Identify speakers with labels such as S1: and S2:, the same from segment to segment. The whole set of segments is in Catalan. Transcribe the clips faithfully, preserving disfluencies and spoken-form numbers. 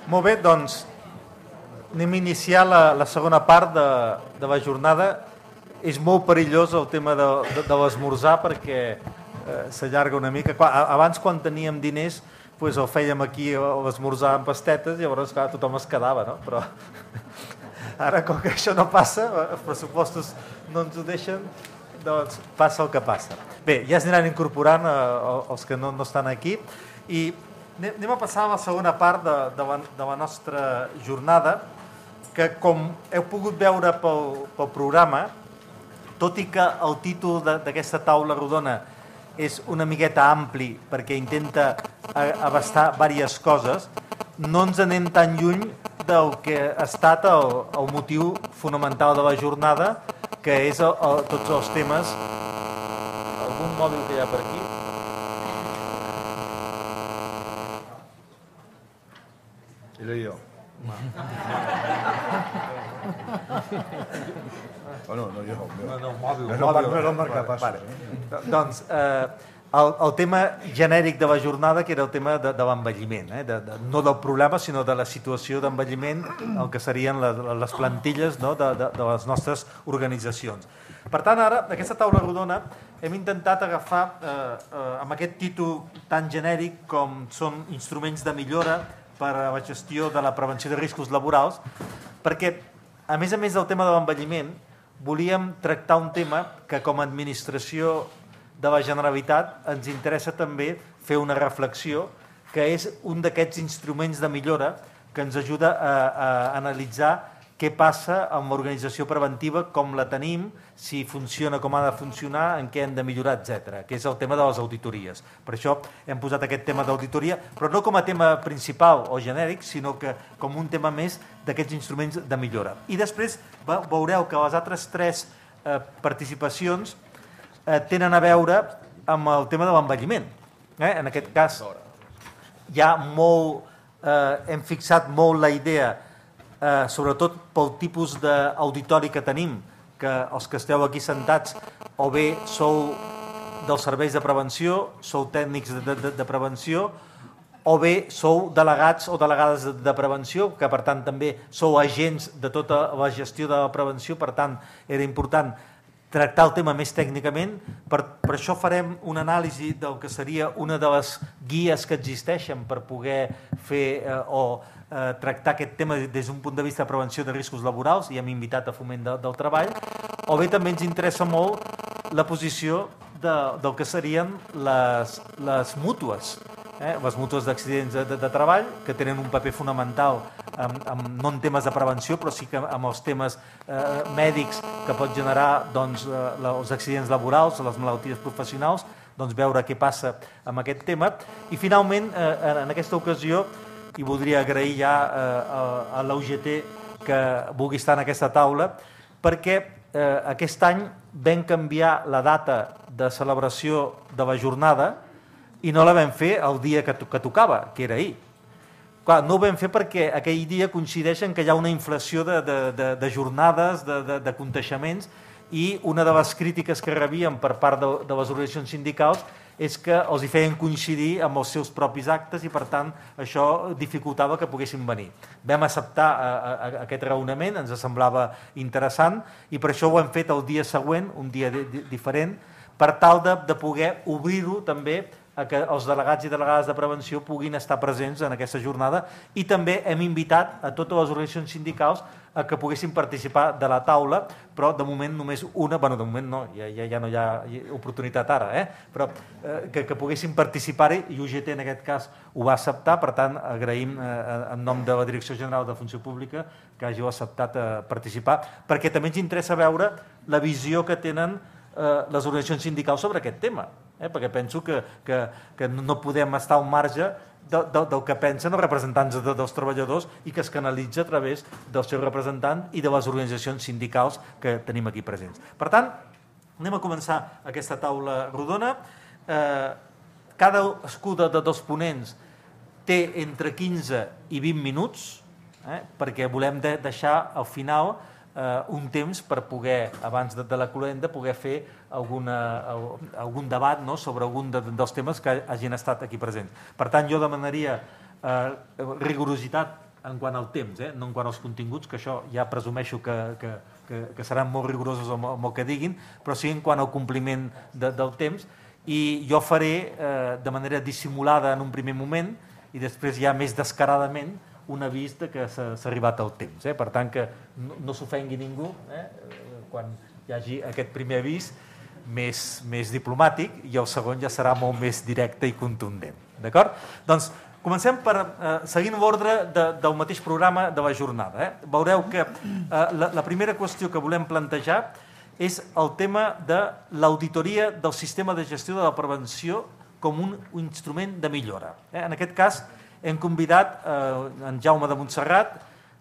S1: Molt bé, doncs anem a iniciar la, la segona part de, de la jornada. És molt perillós el tema de, de, de l'esmorzar perquè eh, s'allarga una mica. Abans, quan teníem diners, pues, el fèiem aquí l'esmorzar amb pastetes, llavors clar, tothom es quedava, no? Però ara, com que això no passa, els pressupostos no ens ho deixen, doncs passa el que passa. Bé, ja es aniran incorporant eh, els que no, no estan aquí i anem a passar a la segona part de, de, la, de la nostra jornada, que com heu pogut veure pel, pel programa, tot i que el títol d'aquesta taula rodona és una miqueta ampli perquè intenta abastar diverses coses, no ens anem tan lluny del que ha estat el, el motiu fonamental de la jornada, que és el, el, tots els temes. Algun mòbil que hi ha per aquí?
S2: Era jo. Oh, no, no, jo.
S1: No, no, mòbil.
S2: No, no, no era el marcapassos.
S1: Vale. Eh? Doncs eh, el, el tema genèric de la jornada, que era el tema de, de l'envelliment, eh? de, de, no del problema, sinó de la situació d'envelliment, el que serien les, les plantilles, no? de, de, de les nostres organitzacions. Per tant, ara, aquesta taula rodona, hem intentat agafar, eh, eh, amb aquest títol tan genèric com són instruments de millora per a la gestió de la prevenció de riscos laborals, perquè, a més a més del tema de l'envelliment, volíem tractar un tema que com a administració de la Generalitat ens interessa també fer una reflexió, que és un d'aquests instruments de millora que ens ajuda a, a analitzar què passa amb l'organització preventiva, com la tenim, si funciona com ha de funcionar, en què hem de millorar, etcètera, que és el tema de les auditories. Per això hem posat aquest tema d'auditoria, però no com a tema principal o genèric, sinó que com un tema més d'aquests instruments de millora. I després veureu que les altres tres eh, participacions eh, tenen a veure amb el tema de l'envelliment. Eh? En aquest cas, hi ha molt, eh, hem fixat molt la idea, eh, sobretot pel tipus d'auditori que tenim, que els que esteu aquí sentats o bé sou dels serveis de prevenció, sou tècnics de, de, de prevenció, o bé sou delegats o delegades de, de prevenció, que per tant també sou agents de tota la gestió de la prevenció, per tant era important tractar el tema més tècnicament. Per, per això farem una anàlisi del que seria una de les guies que existeixen per poder fer eh, o eh, tractar aquest tema des d'un punt de vista de prevenció de riscos laborals, i hem invitat a Foment de, del Treball, o bé també ens interessa molt la posició de, del que serien les, les mútues, eh? les mútues d'accidents de, de, de treball, que tenen un paper fonamental, amb, amb, no en temes de prevenció, però sí que amb els temes eh, mèdics que pot generar doncs, eh, els accidents laborals, les malalties professionals, doncs veure què passa amb aquest tema. I finalment, eh, en aquesta ocasió, i voldria agrair ja eh, a, a l'U G T que vulgui estar en aquesta taula, perquè eh, aquest any vam canviar la data de celebració de la jornada i no la vam fer el dia que, to que tocava, que era ahir. Clar, no ho vam fer perquè aquell dia coincideix en que hi ha una inflació de, de, de, de jornades, de, de, de conteixements, i una de les crítiques que rebíem per part de, de les organitzacions sindicals és que els hi feien coincidir amb els seus propis actes i, per tant, això dificultava que poguessin venir. Vam acceptar a, a, a aquest raonament, ens semblava interessant, i per això ho hem fet el dia següent, un dia di, di, diferent, per tal de, de poder obrir-ho també a que els delegats i delegades de prevenció puguin estar presents en aquesta jornada, i també hem invitat a totes les organitzacions sindicals a que poguessin participar de la taula, però de moment només una, bueno, de moment no, ja, ja, ja no hi ha oportunitat ara, eh? però eh, que, que poguessin participar-hi, i U G T en aquest cas ho va acceptar. Per tant, agraïm eh, en nom de la Direcció General de Funció Pública que hàgiu acceptat eh, participar, perquè també ens interessa veure la visió que tenen eh, les organitzacions sindicals sobre aquest tema, eh? perquè penso que, que, que no podem estar al marge de, de, del que pensen els representants de, dels treballadors, i que es canalitza a través dels seus representants i de les organitzacions sindicals que tenim aquí presents. Per tant, anem a començar aquesta taula rodona. Eh, cadascú de, de dos ponents té entre quinze i vint minuts, eh? perquè volem de, deixar al final eh, un temps per poder, abans de, de la cloenda, poder fer alguna, algun debat, no?, sobre algun de, dels temes que hagin estat aquí presents. Per tant, jo demanaria eh, rigorositat en quant al temps, eh? no en quant als continguts, que això ja presumeixo que, que, que, que seran molt rigorosos amb, amb el que diguin, però sí en quant al compliment de, del temps, i jo faré eh, de manera dissimulada en un primer moment i després ja més descaradament un avís de que s'ha arribat el temps. Eh? Per tant, que no, no s'ofengui ningú eh? quan hi hagi aquest primer avís més, més diplomàtic, i el segon ja serà molt més directe i contundent. D'acord? Doncs comencem per, eh, seguint l'ordre de, del mateix programa de la jornada. Eh? Veureu que eh, la, la primera qüestió que volem plantejar és el tema de l'auditoria del sistema de gestió de la prevenció com un, un instrument de millora. Eh? En aquest cas, hem convidat eh, en Jaume de Montserrat,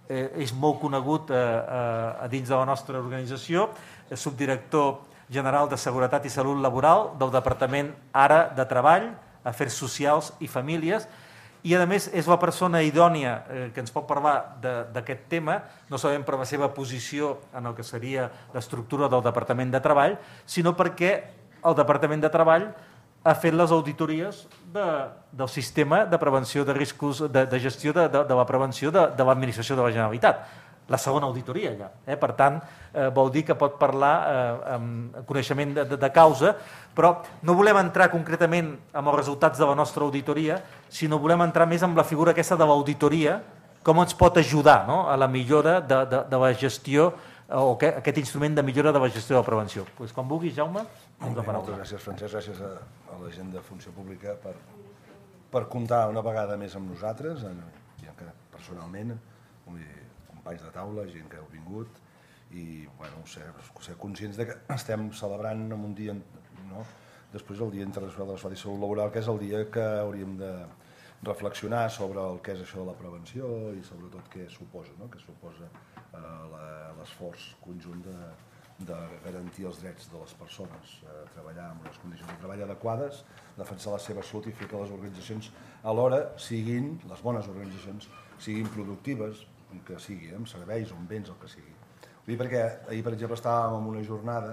S1: eh, és molt conegut eh, eh, a dins de la nostra organització, és subdirector general de Seguretat i Salut Laboral del Departament ara de Treball, Afers Socials i Famílies, i a més és la persona idònia eh, que ens pot parlar d'aquest tema, no solament per la seva posició en el que seria l'estructura del Departament de Treball, sinó perquè el Departament de Treball ha fet les auditories de, del sistema de prevenció de riscos, de, de gestió de, de, de la prevenció de, de l'administració de la Generalitat. La segona auditoria ja. Eh? Per tant, eh, vol dir que pot parlar eh, amb coneixement de, de, de causa, però no volem entrar concretament amb els resultats de la nostra auditoria, sinó volem entrar més amb la figura aquesta de l'auditoria, com ens pot ajudar, no?, a la millora de, de, de la gestió, o que, aquest instrument de millora de la gestió de la prevenció. Pues, quan vulguis, Jaume,
S2: Bé, moltes gràcies, Francesc, gràcies a, a la gent de Funció Pública per, per comptar una vegada més amb nosaltres, en, ja que personalment, companys de taula, gent que heu vingut, i bueno, ser, ser conscients de que estem celebrant en un dia, no? Després el Dia Internacional de la Salut i Salut Laboral, que és el dia que hauríem de reflexionar sobre el que és això de la prevenció i sobretot què suposa, no? Què suposa eh, l'esforç conjunt de, de garantir els drets de les persones, eh, treballar en unes condicions de treball adequades, defensar la seva salut i fer que les organitzacions alhora siguin, les bones organitzacions, siguin productives, que sigui, amb serveis o amb béns, el que sigui. Ho dic perquè ahir, per exemple, estàvem en una jornada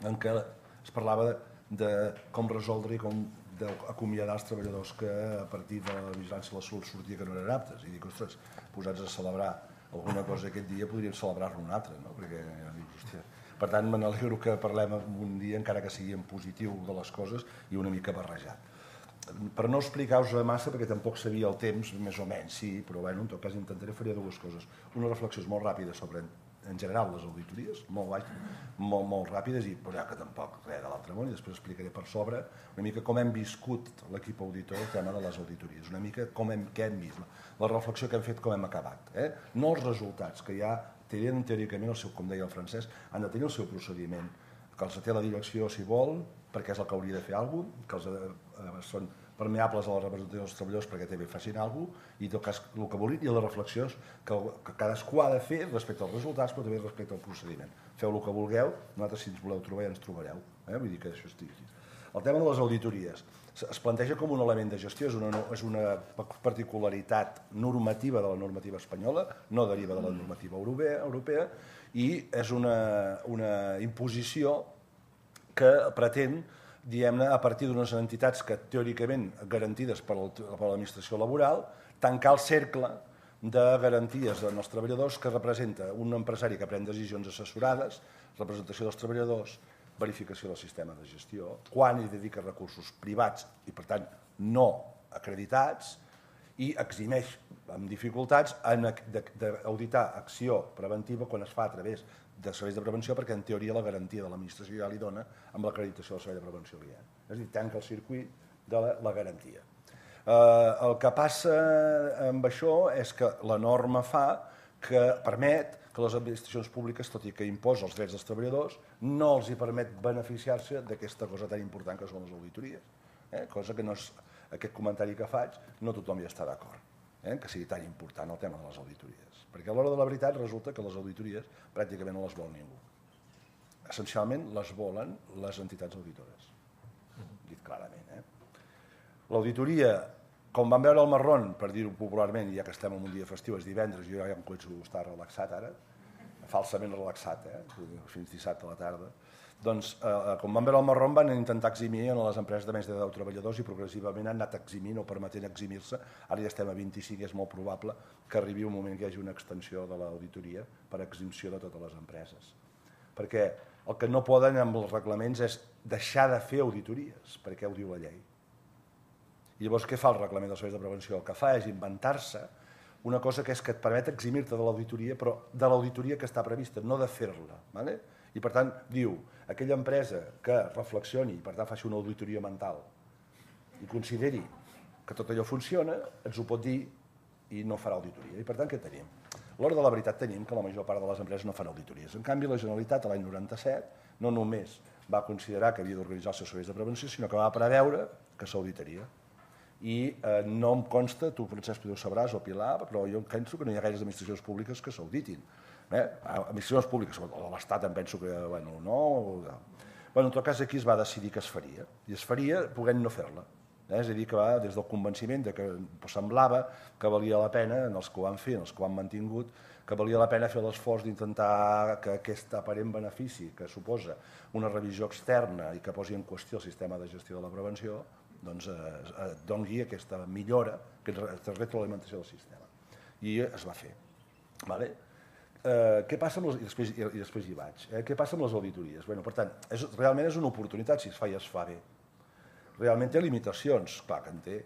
S2: en què es parlava de, de com resoldre i com acomiadar els treballadors que a partir de la vigilància de la salut sortia que no eren aptes. I dic, ostres, posats a celebrar alguna cosa aquest dia, podríem celebrar-ne un altre, no? Perquè, dic, hòstia. Per tant, me n'alegro que parlem un dia, encara que sigui en positiu de les coses i una mica barrejat. Per no explicar-vos massa, perquè tampoc sabia el temps, més o menys, sí, però bueno, en tot cas intentaré fer dues coses. Una reflexió molt ràpida sobre, en general, les auditories, molt, baix, molt, molt ràpides, i però ja que tampoc res de l'altre món, i després explicaré per sobre una mica com hem viscut l'equip auditor el tema de les auditories, una mica com hem, què hem vist, la reflexió que hem fet, com hem acabat. Eh? No els resultats, que ja tenen teòricament, el seu, com deia el Francesc, han de tenir el seu procediment, que els té la direcció si vol, perquè és el que hauria de fer alguna cosa, que els eh, són permeables a la representació dels treballadors perquè també facin alguna cosa, i en tot cas el que vulguin, i les reflexions que, que cadascú ha de fer respecte als resultats, però també respecte al procediment. Feu el que vulgueu, nosaltres si ens voleu trobar ja ens trobareu. Eh? Vull dir que això estigui. El tema de les auditories es planteja com un element de gestió, és una, és una particularitat normativa de la normativa espanyola, no deriva de la normativa europea, europea i és una, una imposició que pretén, diguem-ne, a partir d'unes entitats que teòricament garantides per l'administració laboral, tancar el cercle de garanties dels treballadors que representa un empresari que pren decisions assessorades, representació dels treballadors, verificació del sistema de gestió, quan hi dedica recursos privats i, per tant, no acreditats, i eximeix amb dificultats d'auditar acció preventiva quan es fa a través de serveis de prevenció, perquè en teoria la garantia de l'administració ja li dona amb l'acreditació del servei de prevenció que hi ha. És a dir, tanca el circuit de la, la garantia. Eh, el que passa amb això és que la norma fa que permet que les administracions públiques, tot i que imposa els drets dels treballadors, no els hi permet beneficiar-se d'aquesta cosa tan important que són les auditories. Eh? Cosa que no és, aquest comentari que faig, no tothom hi està d'acord. Eh, que sigui tan important el tema de les auditories. Perquè a l'hora de la veritat resulta que les auditories pràcticament no les vol ningú. Essencialment les volen les entitats auditores, dit clarament. Eh? L'auditoria, com vam veure el marrón, per dir-ho popularment, ja que estem en un dia festiu, és divendres, jo ja em començo a estar relaxat ara, falsament relaxat, eh? Fins dissabte a la tarda, Doncs, eh, com van veure el marró, van intentar eximir a les empreses de menys de deu treballadors i progressivament han anat eximint o permetent eximir-se. Ara ja estem a vint-i-cinc i és molt probable que arribi un moment que hi hagi una extensió de l'auditoria per eximció de totes les empreses. Perquè el que no poden amb els reglaments és deixar de fer auditories, perquè ho diu la llei. I llavors què fa el reglament dels serveis de prevenció? El que fa és inventar-se una cosa que és que et permet eximir-te de l'auditoria, però de l'auditoria que està prevista, no de fer-la. ¿Vale? I per tant diu, aquella empresa que reflexioni i per tant faci una auditoria mental i consideri que tot allò funciona, ens ho pot dir i no farà auditoria. I per tant què tenim? A l'hora de la veritat tenim que la major part de les empreses no fan auditories. En canvi, la Generalitat l'any noranta-set no només va considerar que havia d'organitzar els seus serveis de prevenció, sinó que va preveure que s'auditaria. I eh, no em consta, tu Francesc ho sabràs o Pilar, però jo penso que no hi ha gaires administracions públiques que s'auditin. Eh? Administracions públiques, o l'Estat em penso que bueno, no... Bueno, en tot cas aquí es va decidir que es faria, i es faria podent no fer-la. Eh? És a dir, que va des del convenciment de que semblava que valia la pena, en els que ho han fet, en els que ho han mantingut, que valia la pena fer l'esforç d'intentar que aquest aparent benefici que suposa una revisió externa i que posi en qüestió el sistema de gestió de la prevenció, doncs eh, doni aquesta millora, aquesta retroalimentació del sistema. I es va fer. Vale? Eh, què passa amb les... I després, i després hi vaig. Eh? Què passa amb les auditories? Bueno, per tant, és, realment és una oportunitat si es fa i es fa bé. Realment té limitacions, clar que en té,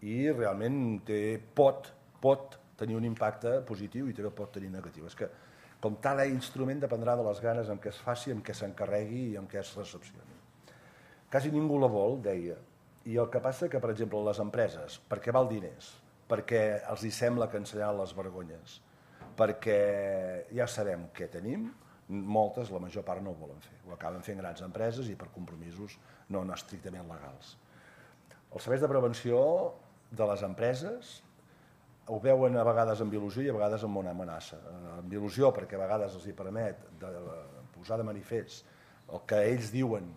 S2: i realment té, pot, pot tenir un impacte positiu i també pot tenir negatiu. És que, com tal instrument, dependrà de les ganes en què es faci, en què s'encarregui i en què es recepcioni. Quasi ningú la vol, deia. I el que passa que, per exemple, les empreses, perquè val diners, perquè els hi sembla que ensenyaran les vergonyes, perquè ja sabem què tenim, moltes, la major part no ho volen fer. Ho acaben fent grans empreses i per compromisos no, no estrictament legals. Els serveis de prevenció de les empreses ho veuen a vegades amb il·lusió i a vegades amb una amenaça. Amb il·lusió perquè a vegades els hi permet de posar de manifest el que ells diuen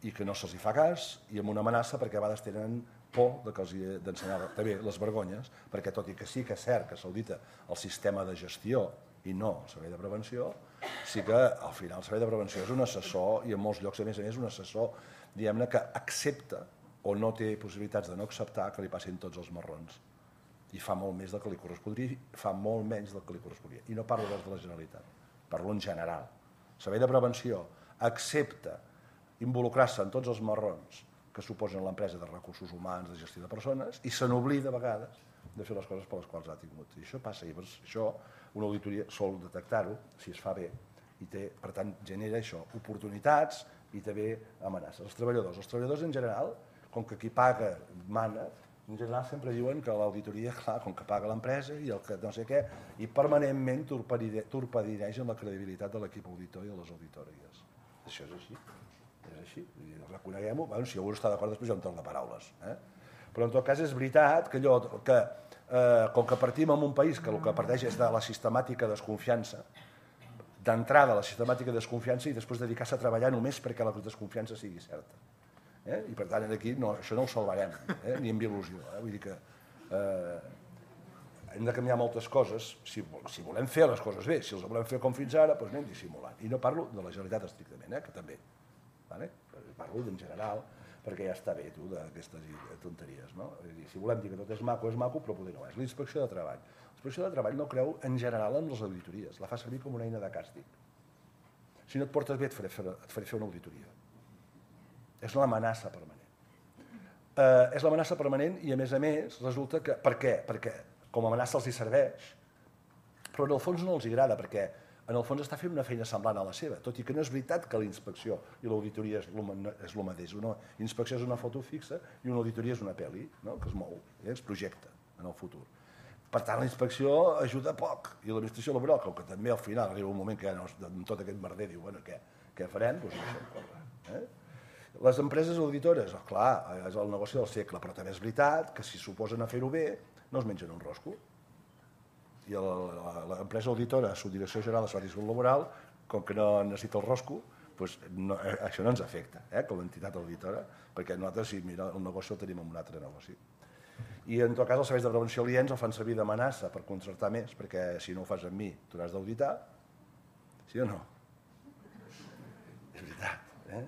S2: i que no se'ls hi fa cas, i amb una amenaça perquè a vegades tenen por de que els hi d'ensenyar també les vergonyes, perquè tot i que sí que és cert que s'audita el sistema de gestió i no el servei de prevenció, sí que al final el servei de prevenció és un assessor i en molts llocs a més a més un assessor diguem-ne que accepta o no té possibilitats de no acceptar que li passin tots els marrons i fa molt més del que li correspondria i fa molt menys del que li correspondria. I no parlo des de la Generalitat, parlo en general. El servei de prevenció accepta involucrar-se en tots els marrons que suposen l'empresa de recursos humans, de gestió de persones, i se n'oblida a vegades de fer les coses per les quals ha tingut. I això passa, i per això una auditoria sol detectar-ho, si es fa bé, i té, per tant, genera això, oportunitats i també amenaces. Els treballadors, els treballadors en general, com que qui paga mana, en general sempre diuen que l'auditoria, clar, com que paga l'empresa i el que no sé què, i permanentment torpedineixen la credibilitat de l'equip auditor i de les auditories. Això és així. És així, reconeguem-ho, bueno, si algú està d'acord després hi ha un torn de paraules. Eh? Però en tot cas és veritat que, allò, que eh, com que partim en un país que el que parteix és de la sistemàtica desconfiança, d'entrada la sistemàtica desconfiança i després dedicar-se a treballar només perquè la desconfiança sigui certa. Eh? I per tant aquí no, això no ho salvarem, eh? ni amb il·lusió. Eh? Vull dir que eh, hem de canviar moltes coses, si, si volem fer les coses bé, si els volem fer com fins ara, doncs anem dissimulant. I no parlo de la Generalitat estrictament, eh? que també. Vale? Parlo en general perquè ja està bé tu d'aquestes tonteries, no? Si volem dir que tot és maco, és maco, però poder no és. L'inspecció de treball. L'inspecció de treball no creu en general en les auditories, la fa servir com una eina de càstig. Si no et portes bé et faré fer, et faré fer una auditoria. És l'amenaça permanent. Eh, és l'amenaça permanent i a més a més resulta que... Per què? Perquè com a amenaça els hi serveix, però en el fons no els agrada perquè en el fons està fent una feina semblant a la seva, tot i que no és veritat que la inspecció i l'auditoria és el mateix. Una inspecció és una foto fixa i una auditoria és una pel·li, no? que es mou, eh? es projecta en el futur. Per tant, la inspecció ajuda poc, i l'administració laboral, com que també al final arriba un moment que ja no, amb tot aquest merder diu, bueno, què, què farem? Doncs ho deixem córrer. Eh? Les empreses auditores, oh, clar, és el negoci del segle, però també és veritat que si s'oposen a fer-ho bé, no es mengen un rosco. I l'empresa auditora, la Subdirecció General de Salut Laboral, com que no necessita el rosco, doncs no, això no ens afecta, eh, com a entitat auditora, perquè nosaltres, si mira, el negoci el tenim en un altre negoci. I en tot cas els serveis de prevenció aliens el fan servir d'amenaça per contractar més, perquè si no ho fas amb mi, tu n'has d'auditar, sí o no? És veritat. Eh?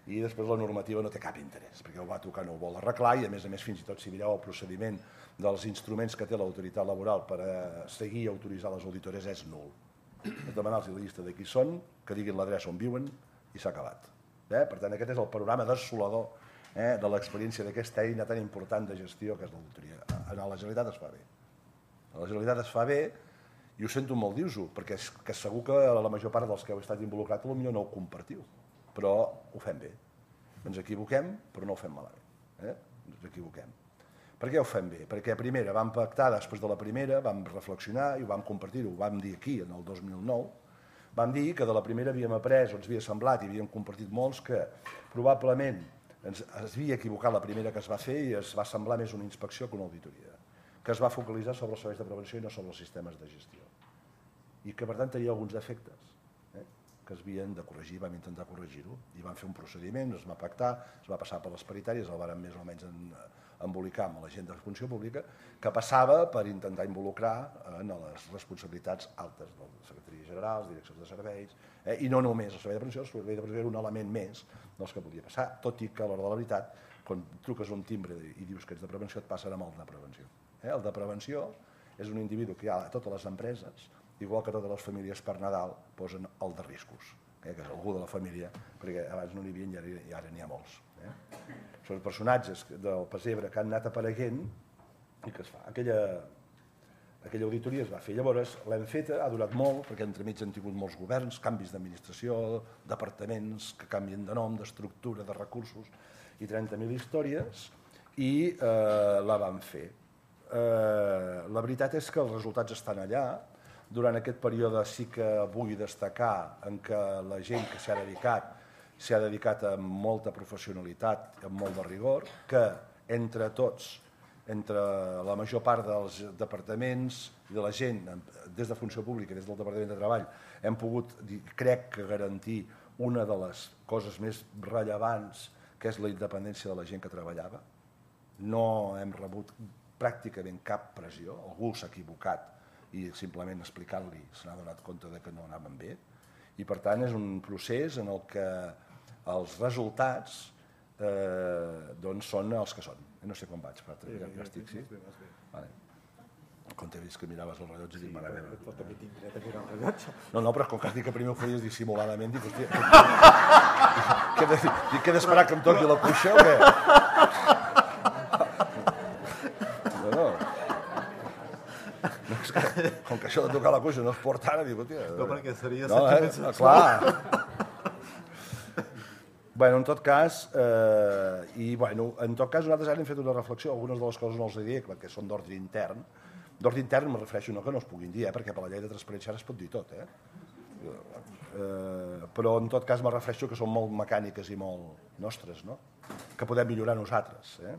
S2: I després la normativa no té cap interès, perquè ho va tocar, no ho vol arreglar, i a més a més fins i tot si mireu el procediment dels instruments que té l'autoritat laboral per a seguir i autoritzar les auditores és nul. És demanar-los la llista de qui són, que diguin l'adreça on viuen i s'ha acabat. Eh? Per tant, aquest és el panorama desolador eh, de l'experiència d'aquesta eina tan important de gestió que és l'auditoria. A la Generalitat es fa bé. A la Generalitat es fa bé i ho sento molt dir-ho, perquè és que segur que la major part dels que heu estat involucrats potser no ho compartiu, però ho fem bé. Ens equivoquem, però no ho fem malament. Eh? Ens equivoquem. Per què ho fem bé? Perquè primera vam pactar després de la primera, vam reflexionar i ho vam compartir, ho vam dir aquí en el dos mil nou, vam dir que de la primera havíem après, o ens havia semblat i havíem compartit molts, que probablement ens, es havia equivocat la primera que es va fer i es va semblar més una inspecció que una auditoria, que es va focalitzar sobre els serveis de prevenció i no sobre els sistemes de gestió. I que, per tant, tenia alguns defectes eh, que es havien de corregir, vam intentar corregir-ho, i vam fer un procediment, es va pactar, es va passar per les paritàries, el vàrem més o menys en, embolicar amb la gent de funció pública, que passava per intentar involucrar en les responsabilitats altes de les secretaries generals, direccions de serveis, eh, i no només el servei de prevenció, el servei de prevenció era un element més dels que podia passar, tot i que a l'hora de la veritat, quan truques un timbre i dius que ets de prevenció, et passen amb el de prevenció. Eh? El de prevenció és un individu que hi ha a totes les empreses, igual que totes les famílies per Nadal posen el de riscos, eh? que és algú de la família, perquè abans no n'hi havia i ara n'hi ha molts. Eh? Són personatges del pessebre que han anat apareguent i que es fa. Aquella, aquella auditoria es va fer. Llavors l'hem feta, ha durat molt, perquè entremig han tingut molts governs, canvis d'administració, departaments que canvien de nom, d'estructura, de recursos, i trenta mil històries, i eh, la vam fer. Eh, la veritat és que els resultats estan allà. Durant aquest període sí que vull destacar en què la gent que s'ha dedicat s'ha dedicat amb molta professionalitat, amb molt de rigor, que entre tots, entre la major part dels departaments i de la gent, des de Funció Pública, des del Departament de Treball, hem pogut, crec que, garantir una de les coses més rellevants, que és la independència de la gent que treballava. No hem rebut pràcticament cap pressió, algú s'ha equivocat i simplement explicant-li se n'ha donat compte de que no anaven bé, i per tant és un procés en el que els resultats eh, doncs són els que són. No sé com vaig, però ja, ja estic, sí? Vale. Quan t'he vist que miraves el rellotge, dic, mare meva.
S3: Però també tinc dret a mirar el rellotge.
S2: No, no, però com que has dit que primer ho feies dissimuladament, dic, hòstia, que he d'esperar que em toqui la cuixa o què? No, no. No, és que, com que això de tocar la cuixa no es porta ara, dic, hòstia...
S3: No, perquè seria
S2: no,
S3: sentiment
S2: eh?
S3: sexual.
S2: Clar. Bueno, en tot cas, eh, i bueno, en tot cas nosaltres ara hem fet una reflexió, algunes de les coses no els he dit perquè són d'ordre intern. D'ordre intern me refereixo no que no es puguin dir, eh, perquè per la llei de transparència ara es pot dir tot, eh? Eh, però en tot cas me refereixo que són molt mecàniques i molt nostres, no? Que podem millorar nosaltres, eh?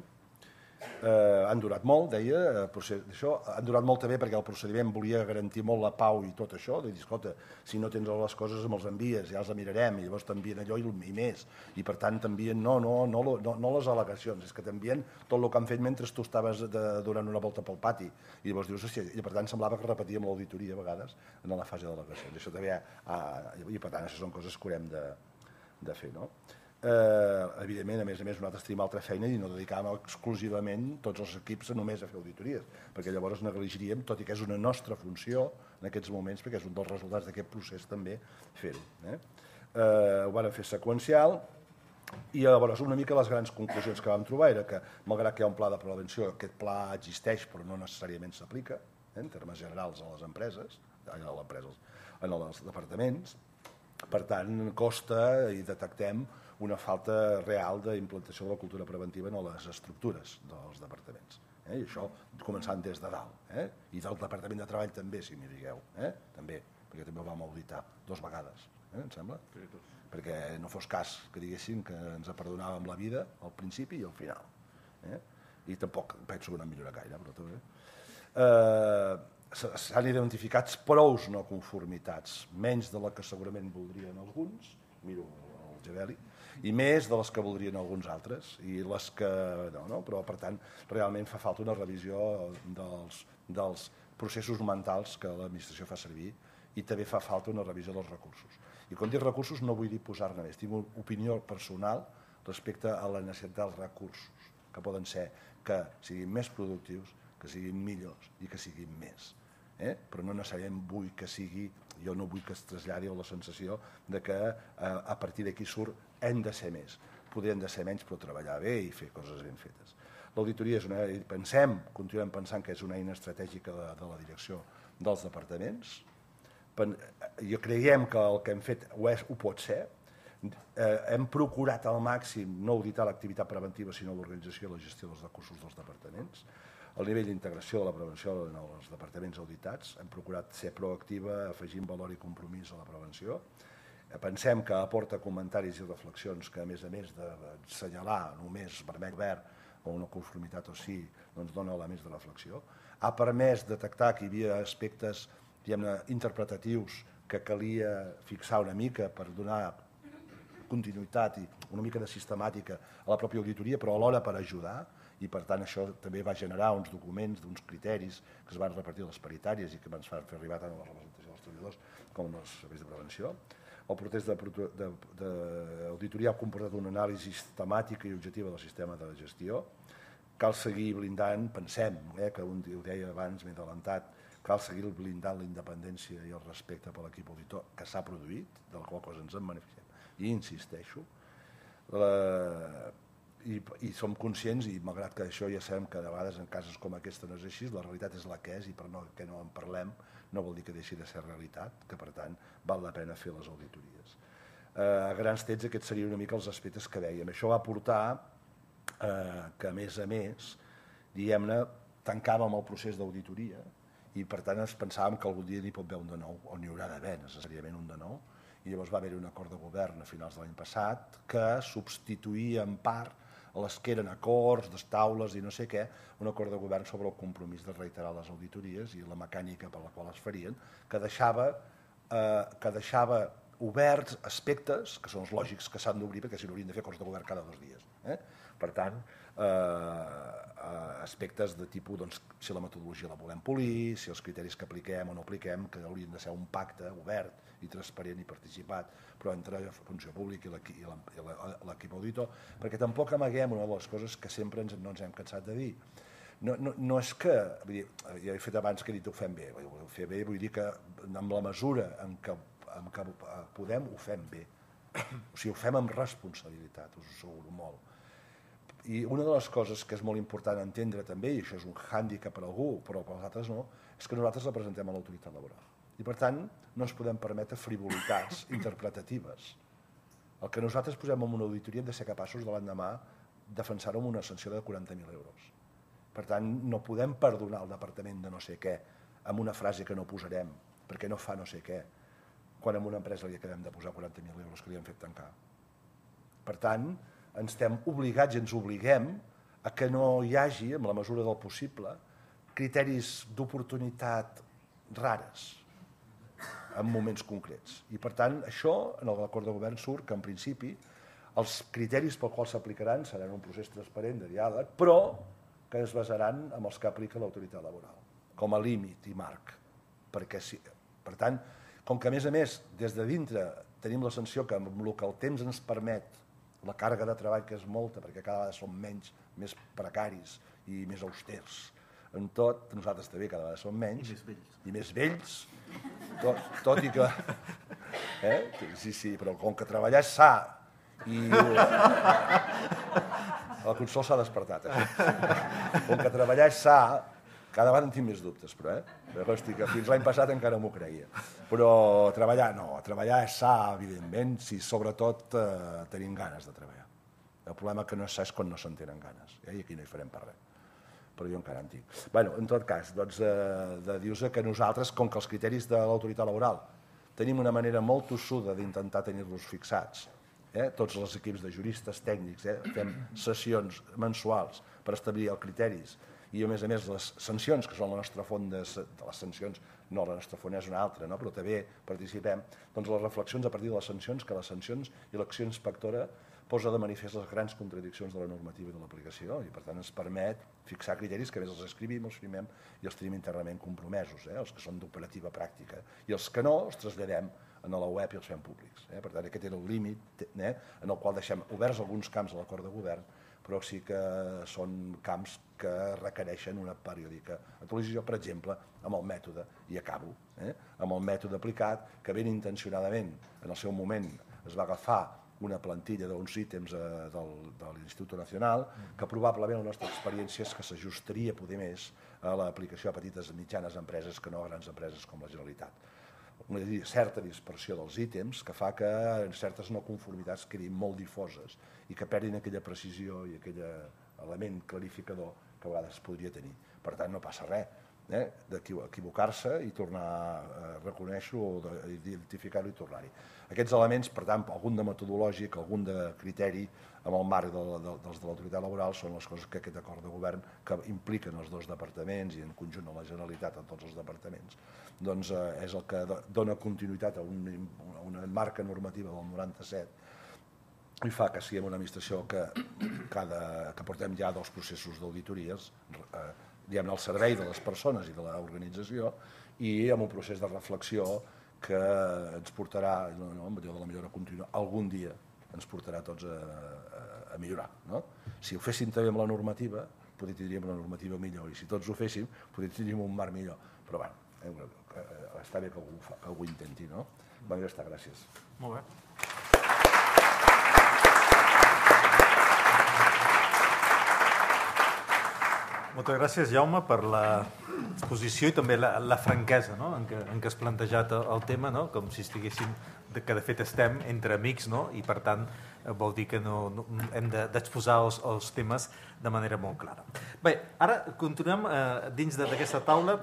S2: Eh, han durat molt, deia, procés, això, han durat molt també perquè el procediment volia garantir molt la pau i tot això, de dir, escolta, si no tens les coses me'ls envies, ja els mirarem, i llavors t'envien allò i, i més, i per tant t'envien no, no, no, no, no les al·legacions, és que t'envien tot el que han fet mentre tu estaves de, donant una volta pel pati, i llavors dius, hòstia, i per tant semblava que repetíem l'auditoria a vegades en la fase d'al·legacions, això també, ah, i per tant això són coses que haurem de, de fer, no? Eh, evidentment, a més a més, nosaltres tenim altra feina i no dedicàvem exclusivament tots els equips només a fer auditories, perquè llavors negligiríem, tot i que és una nostra funció en aquests moments, perquè és un dels resultats d'aquest procés també fer-ho. Eh? Eh, ho vam fer seqüencial i llavors una mica les grans conclusions que vam trobar era que, malgrat que hi ha un pla de prevenció, aquest pla existeix però no necessàriament s'aplica, eh, en termes generals a les empreses, a les empreses, en els departaments. Per tant, costa i detectem una falta real d'implantació de la cultura preventiva en les estructures dels departaments. Eh? I això començant des de dalt. Eh? I del Departament de Treball també, si m'hi digueu. Eh? També, perquè també ho vam auditar dues vegades, eh? em sembla? Sí, perquè no fos cas que diguessin que ens perdonàvem la vida al principi i al final. Eh? I tampoc penso que no millora gaire, però també. Eh, s'han identificat prous no conformitats, menys de la que segurament voldrien alguns, miro el Gebeli, i més de les que voldrien alguns altres, i les que no, no? Però per tant realment fa falta una revisió dels, dels processos mentals que l'administració fa servir i també fa falta una revisió dels recursos. I quan dic recursos no vull dir posar-ne més, tinc una opinió personal respecte a la necessitat dels recursos, que poden ser que siguin més productius, que siguin millors i que siguin més. Eh? Però no necessàriament vull que sigui, jo no vull que es traslladi la sensació de que eh, a partir d'aquí surt hem de ser més. Podríem de ser menys però treballar bé i fer coses ben fetes. L'auditoria és una, pensem, continuem pensant que és una eina estratègica de, de la direcció dels departaments. Jo creiem que el que hem fet ho, és, ho pot ser. Eh, hem procurat al màxim no auditar l'activitat preventiva sinó l'organització i la gestió dels recursos dels departaments. El nivell d'integració de la prevenció en els departaments auditats, hem procurat ser proactiva, afegint valor i compromís a la prevenció. Pensem que aporta comentaris i reflexions que, a més a més d'assenyalar només vermell verd o una conformitat o sí, doncs dona elements de reflexió. Ha permès detectar que hi havia aspectes interpretatius que calia fixar una mica per donar continuïtat i una mica de sistemàtica a la pròpia auditoria, però alhora per ajudar, i per tant això també va generar uns documents, d'uns criteris que es van repartir a les paritàries i que ens van fer arribar tant a la representació dels treballadors com als serveis de prevenció. El procés d'auditoria ha comportat una anàlisi sistemàtica i objectiva del sistema de gestió. Cal seguir blindant, pensem, eh, que un, ho deia abans, m'he adelantat, cal seguir blindant la independència i el respecte per l'equip auditor que s'ha produït, de la qual cosa ens en beneficiem. I insisteixo, la, i, i som conscients, i malgrat que això ja sabem que de vegades en casos com aquesta no és així, la realitat és la que és i per no, que no en parlem no vol dir que deixi de ser realitat, que per tant val la pena fer les auditories. Eh, a grans trets aquests serien una mica els aspectes que dèiem. Això va portar eh, que a més a més, diguem-ne, tancàvem el procés d'auditoria i per tant ens pensàvem que algun dia n'hi pot haver un de nou, o n'hi haurà d'haver necessàriament un de nou, i llavors va haver-hi un acord de govern a finals de l'any passat que substituïa en part les que eren acords, les taules i no sé què, un acord de govern sobre el compromís de reiterar les auditories i la mecànica per la qual es farien, que deixava, eh, que deixava oberts aspectes, que són els lògics que s'han d'obrir, perquè si no haurien de fer acords de govern cada dos dies. Eh? Per tant, eh, aspectes de tipus, doncs, si la metodologia la volem polir, si els criteris que apliquem o no apliquem, que haurien de ser un pacte obert i transparent i participat, però entre la funció pública i l'equip auditor, perquè tampoc amaguem una de les coses que sempre ens, no ens hem cansat de dir. No, no, no és que, vull dir, ja he fet abans que he dit ho fem bé, ho fer bé vull dir que amb la mesura en què, en què podem ho fem bé, o sigui, ho fem amb responsabilitat, us ho asseguro molt. I una de les coses que és molt important entendre també, i això és un hàndicap per a algú, però per als altres no, és que nosaltres representem a l'autoritat laboral. I per tant, no ens podem permetre frivolitats interpretatives. El que nosaltres posem en una auditoria hem de ser capaços de l'endemà defensar-ho amb una sanció de quaranta mil euros. Per tant, no podem perdonar el departament de no sé què amb una frase que no posarem, perquè no fa no sé què, quan a una empresa li acabem de posar quaranta mil euros que li han fet tancar. Per tant, ens estem obligats i ens obliguem a que no hi hagi, en la mesura del possible, criteris d'oportunitat rares en moments concrets. I per tant, això, en l'acord de govern surt que en principi els criteris pel qual s'aplicaran seran un procés transparent de diàleg, però que es basaran en els que aplica l'autoritat laboral, com a límit i marc. Perquè, sí, per tant, com que a més a més, des de dintre tenim la sensació que amb el que el temps ens permet, la càrrega de treball que és molta, perquè cada vegada som menys, més precaris i més austers, en tot, nosaltres també cada vegada som menys.
S1: I més vells.
S2: I més vells, tot, tot i que... Eh? Sí, sí, però com que treballar és sa i... El Consol s'ha despertat, això. Com que treballar és sa, cada vegada en tinc més dubtes, però, eh? Però hosti, que fins l'any passat encara m'ho creia. Però treballar, no, treballar és sa, evidentment, si sobretot eh, tenim ganes de treballar. El problema que no és sa és quan no se'n tenen ganes, eh? I aquí no hi farem per res. Però jo encara en tinc. Bé, en tot cas, doncs, eh, de dir-vos que nosaltres, com que els criteris de l'autoritat laboral tenim una manera molt tossuda d'intentar tenir-los fixats, eh? Tots els equips de juristes tècnics, eh? Fem sessions mensuals per establir els criteris i, a més a més, les sancions, que són la nostra font de, de les sancions, no, la nostra font és una altra, no? Però també participem, doncs les reflexions a partir de les sancions, que les sancions i l'acció inspectora posa de manifest les grans contradiccions de la normativa i de l'aplicació i per tant ens permet fixar criteris que a més els escrivim, els firmem i els tenim internament compromesos, eh? Els que són d'operativa pràctica i els que no els traslladem a la web i els fem públics. Eh? Per tant, aquest era el límit eh? en el qual deixem oberts alguns camps a l'acord de govern, però sí que són camps que requereixen una periòdica actualització, per exemple, amb el mètode, i acabo, eh? amb el mètode aplicat, que ben intencionadament en el seu moment es va agafar una plantilla d'uns ítems eh, del, de l'Institut Nacional, que probablement la nostra experiència és que s'ajustaria poder més a l'aplicació a petites i mitjanes empreses que no a grans empreses com la Generalitat. Una certa dispersió dels ítems que fa que en certes no conformitats quedin molt difoses i que perdin aquella precisió i aquell element clarificador que a vegades podria tenir. Per tant, no passa res eh? d'equivocar-se i tornar a reconèixer-ho o d'identificar-ho i tornar-hi. Aquests elements, per tant, algun de metodològic, algun de criteri amb el marc de, de, dels de l'autoritat laboral són les coses que aquest acord de govern que impliquen els dos departaments i en conjunt a la Generalitat en tots els departaments doncs eh, és el que dona continuïtat a, un, a una marca normativa del noranta-set i fa que siguem una administració que, cada, que portem ja dos processos d'auditories eh, diguem-ne al servei de les persones i de l'organització i amb un procés de reflexió que ens portarà, no, no, de la millora contínua, algun dia ens portarà tots a, a, a millorar. No? Si ho féssim també amb la normativa, potser tindríem una normativa millor, i si tots ho féssim, potser tindríem un marc millor. Però bé, eh, està bé que algú, fa, que algú intenti, no? Va, ja està, gràcies.
S1: Molt bé. Moltes gràcies, Jaume, per l'exposició i també la, la franquesa no? en, què, en què has plantejat el tema, no? Com si estiguéssim, que de fet estem entre amics, no? I per tant vol dir que no, no, hem d'exposar de, els, els temes de manera molt clara. Bé, ara continuem eh, dins d'aquesta taula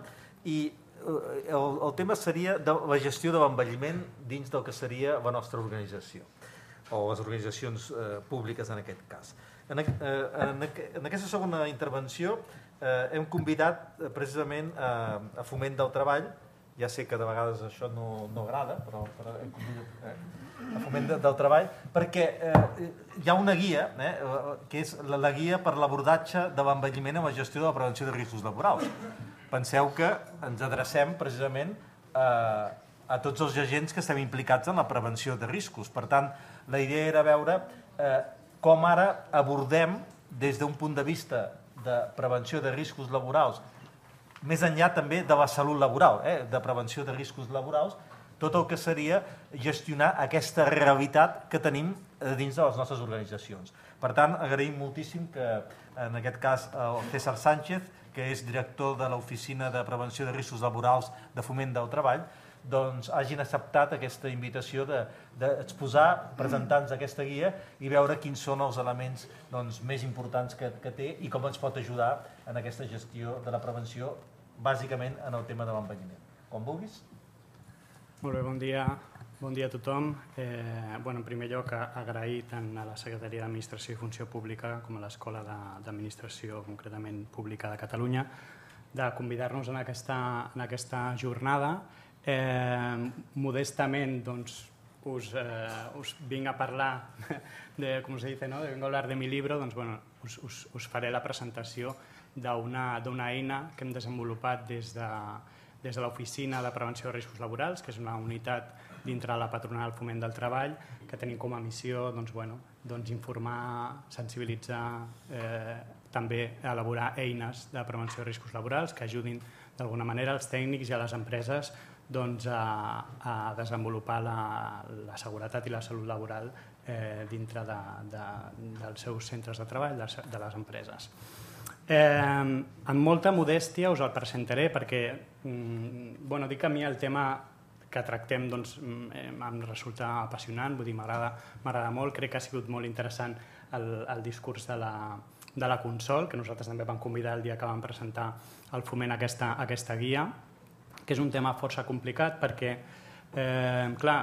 S1: i eh, el, el tema seria de la gestió de l'envelliment dins del que seria la nostra organització o les organitzacions eh, públiques en aquest cas. En, eh, en, en aquesta segona intervenció eh, hem convidat eh, precisament a, a Foment del Treball, ja sé que de vegades això no, no agrada, però, però hem convidat eh, a Foment de, del Treball, perquè eh, hi ha una guia, eh, que és la, la guia per l'abordatge de l'envelliment en la gestió de la prevenció de riscos laborals. Penseu que ens adrecem precisament a, a tots els agents que estem implicats en la prevenció de riscos. Per tant, la idea era veure eh, com ara abordem des d'un punt de vista de prevenció de riscos laborals, més enllà també de la salut laboral, eh, de prevenció de riscos laborals, tot el que seria gestionar aquesta realitat que tenim dins de les nostres organitzacions. Per tant, agraïm moltíssim que, en aquest cas, el César Sánchez, que és director de l'Oficina de Prevenció de Riscos Laborals de Foment del Treball, doncs hagin acceptat aquesta invitació d'exposar, de, presentar-nos aquesta guia i veure quins són els elements doncs, més importants que, que té i com ens pot ajudar en aquesta gestió de la prevenció, bàsicament en el tema de l'envelliment. Com vulguis.
S4: Molt bé, bon dia. Bon dia a tothom. Eh, bueno, en primer lloc, agrair tant a la Secretaria d'Administració i Funció Pública com a l'Escola d'Administració, concretament pública de Catalunya, de convidar-nos en aquesta, en aquesta jornada. Eh, modestament doncs, us, eh, us vinc a parlar de, com se dice, ¿no? de vengo a hablar de mi libro, doncs, bueno, us, us, us faré la presentació d'una eina que hem desenvolupat des de, des de l'Oficina de Prevenció de Riscos Laborals, que és una unitat dintre de la Patronal Foment del Treball, que tenim com a missió doncs, bueno, doncs, informar, sensibilitzar, eh, també elaborar eines de prevenció de riscos laborals que ajudin d'alguna manera als tècnics i a les empreses doncs, a, a desenvolupar la, la seguretat i la salut laboral eh, dintre de, de, dels seus centres de treball, de, de les empreses. Eh, amb molta modèstia us el presentaré perquè mm, bueno, dic que a mi el tema que tractem doncs, em resulta apassionant, vull dir, m'agrada molt, crec que ha sigut molt interessant el, el discurs de la, de la Consol, que nosaltres també vam convidar el dia que vam presentar al Foment aquesta, aquesta guia, que és un tema força complicat perquè, eh, clar,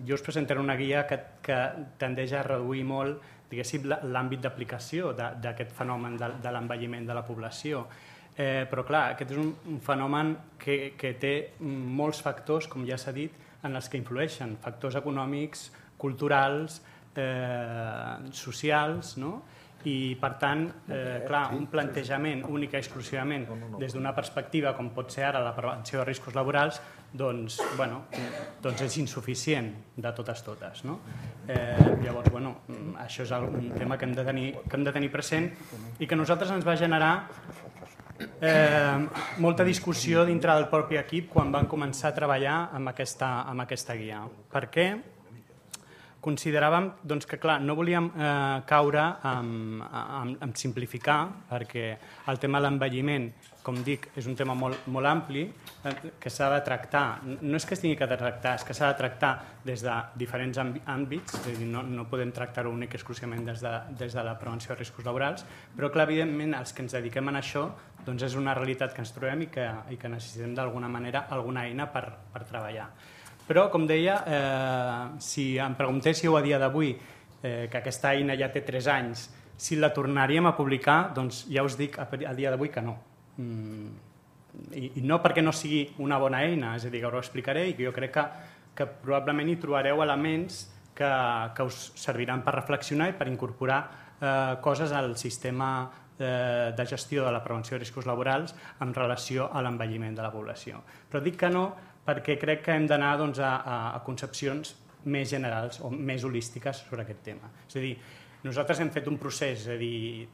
S4: jo us presentaré una guia que, que tendeix a reduir molt, diguéssim, l'àmbit d'aplicació d'aquest fenomen de, de l'envelliment de la població. Eh, però, clar, aquest és un, un fenomen que, que té molts factors, com ja s'ha dit, en els que influeixen, factors econòmics, culturals, eh, socials, no? I, per tant, eh, clar, un plantejament únic i exclusivament des d'una perspectiva, com pot ser ara la prevenció de riscos laborals, doncs, bueno, doncs és insuficient de totes totes. No? Eh, llavors, bueno, això és un tema que hem de tenir, que hem de tenir present i que a nosaltres ens va generar eh, molta discussió dintre del propi equip quan vam començar a treballar amb aquesta, amb aquesta guia. Per què? Consideràvem doncs, que clar, no volíem eh, caure en, en, en simplificar, perquè el tema de l'envelliment, com dic, és un tema molt, molt ampli, eh, que s'ha de tractar. No és que es tingui que tractar, és que s'ha de tractar des de diferents àmbits, és a dir, no, no podem tractar-ho únic exclusivament des de, des de la prevenció de riscos laborals, però clar, evidentment, els que ens dediquem a això doncs és una realitat que ens trobem i que, i que necessitem d'alguna manera alguna eina per, per treballar. Però, com deia, eh, si em preguntéssiu a dia d'avui, eh, que aquesta eina ja té tres anys, si la tornaríem a publicar, doncs ja us dic a, a dia d'avui que no. Mm, i, I no perquè no sigui una bona eina, és a dir, que us ho explicaré i que jo crec que, que probablement hi trobareu elements que, que us serviran per reflexionar i per incorporar eh, coses al sistema eh, de gestió de la prevenció de riscos laborals en relació a l'envelliment de la població. Però dic que no perquè crec que hem d'anar doncs, a, a concepcions més generals o més holístiques sobre aquest tema. És a dir, nosaltres hem fet un procés, és a dir,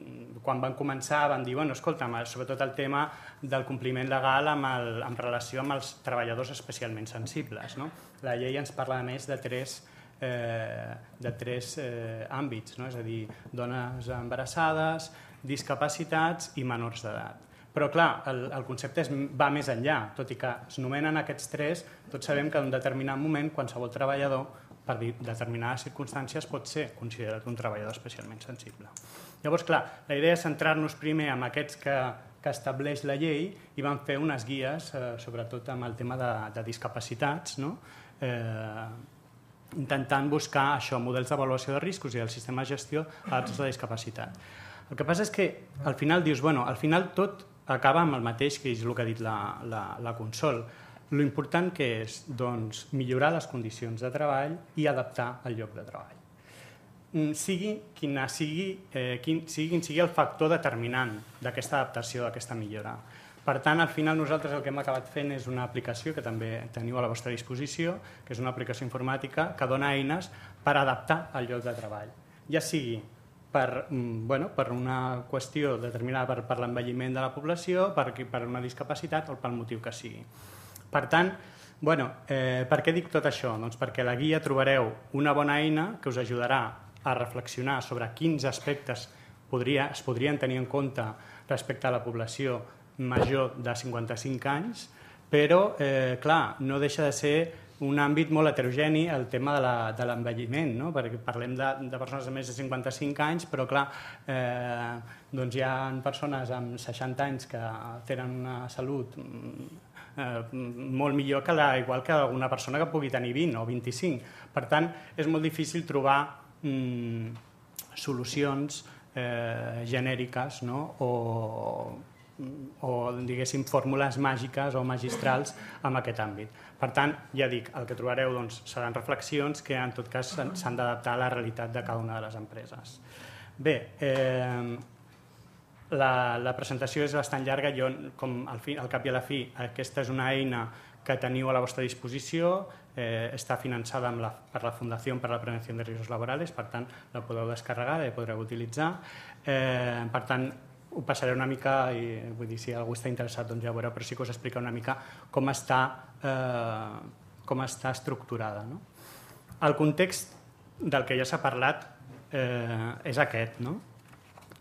S4: quan vam començar vam dir, bueno, escolta, sobretot el tema del compliment legal amb el, en relació amb els treballadors especialment sensibles. No? La llei ens parla a més de tres, eh, de tres eh, àmbits, no? És a dir, dones embarassades, discapacitats i menors d'edat. Però, clar, el, el concepte es, va més enllà, tot i que es nomenen aquests tres, tots sabem que en un determinat moment qualsevol treballador, per determinades circumstàncies, pot ser considerat un treballador especialment sensible. Llavors, clar, la idea és centrar-nos primer en aquests que, que estableix la llei i vam fer unes guies, eh, sobretot amb el tema de, de discapacitats, no? eh, intentant buscar això, models d'avaluació de riscos i el sistema de gestió adaptats a la discapacitat. El que passa és que al final dius, bueno, al final tot acaba amb el mateix, que és el que ha dit la, la, la Consol. Lo important que és doncs, millorar les condicions de treball i adaptar el lloc de treball. Sigui quin sigui, eh, quin, sigui quin sigui el factor determinant d'aquesta adaptació, d'aquesta millora. Per tant, al final nosaltres el que hem acabat fent és una aplicació que també teniu a la vostra disposició, que és una aplicació informàtica que dona eines per adaptar el lloc de treball. Ja sigui per, bueno, per una qüestió determinada per, per l'envelliment de la població, per, per una discapacitat o pel motiu que sigui. Per tant, bueno, eh, per què dic tot això? Doncs perquè a la guia trobareu una bona eina que us ajudarà a reflexionar sobre quins aspectes podria, es podrien tenir en compte respecte a la població major de cinquanta-cinc anys, però, eh, clar, no deixa de ser un àmbit molt heterogeni el tema de l'envelliment, no? Perquè parlem de, de persones de més de cinquanta-cinc anys, però clar, eh, doncs hi ha persones amb seixanta anys que tenen una salut eh, molt millor que la, igual que una persona que pugui tenir vint o vint-i-cinc. Per tant, és molt difícil trobar mm, solucions eh, genèriques, no? o o diguéssim fórmules màgiques o magistrals en aquest àmbit. Per tant, ja dic, el que trobareu doncs, seran reflexions que en tot cas s'han d'adaptar a la realitat de cada una de les empreses. Bé, eh, la, la presentació és bastant llarga, jo com al, fi, al cap i a la fi aquesta és una eina que teniu a la vostra disposició, eh, està finançada amb la, per la Fundació per la Prevenció de Riscos Laborals, per tant la podeu descarregar i podreu utilitzar. Eh, per tant, ho passaré una mica, i vull dir, si algú està interessat doncs ja ho veureu, però sí que us explica una mica com està, eh, com està estructurada. No? El context del que ja s'ha parlat eh, és aquest, no?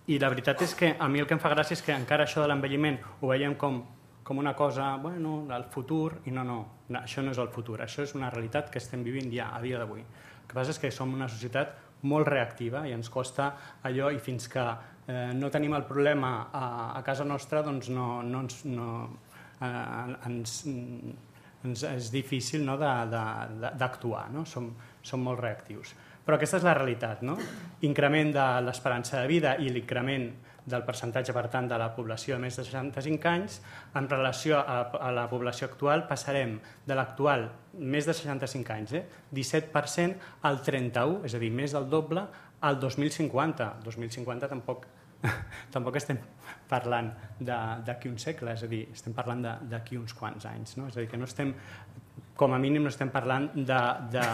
S4: I la veritat és que a mi el que em fa gràcia és que encara això de l'envelliment ho veiem com, com una cosa, bueno, el futur, i no, no, no, això no és el futur, això és una realitat que estem vivint ja a dia d'avui. El que passa és que som una societat molt reactiva i ens costa allò, i fins que eh, no tenim el problema a, a casa nostra, doncs no, no ens, no, eh, ens, ens és difícil, no, d'actuar, no? Som, som molt reactius. Però aquesta és la realitat, no? Increment de l'esperança de vida i l'increment del percentatge, per tant, de la població de més de seixanta-cinc anys. En relació a la població actual, passarem de l'actual més de seixanta-cinc anys, eh? disset per cent al trenta-u, és a dir, més del doble, al dos mil cinquanta. dos mil cinquanta tampoc, tampoc estem parlant d'aquí un segle, és a dir, estem parlant d'aquí uns quants anys. No? És a dir, que no estem, com a mínim, no estem parlant de, de,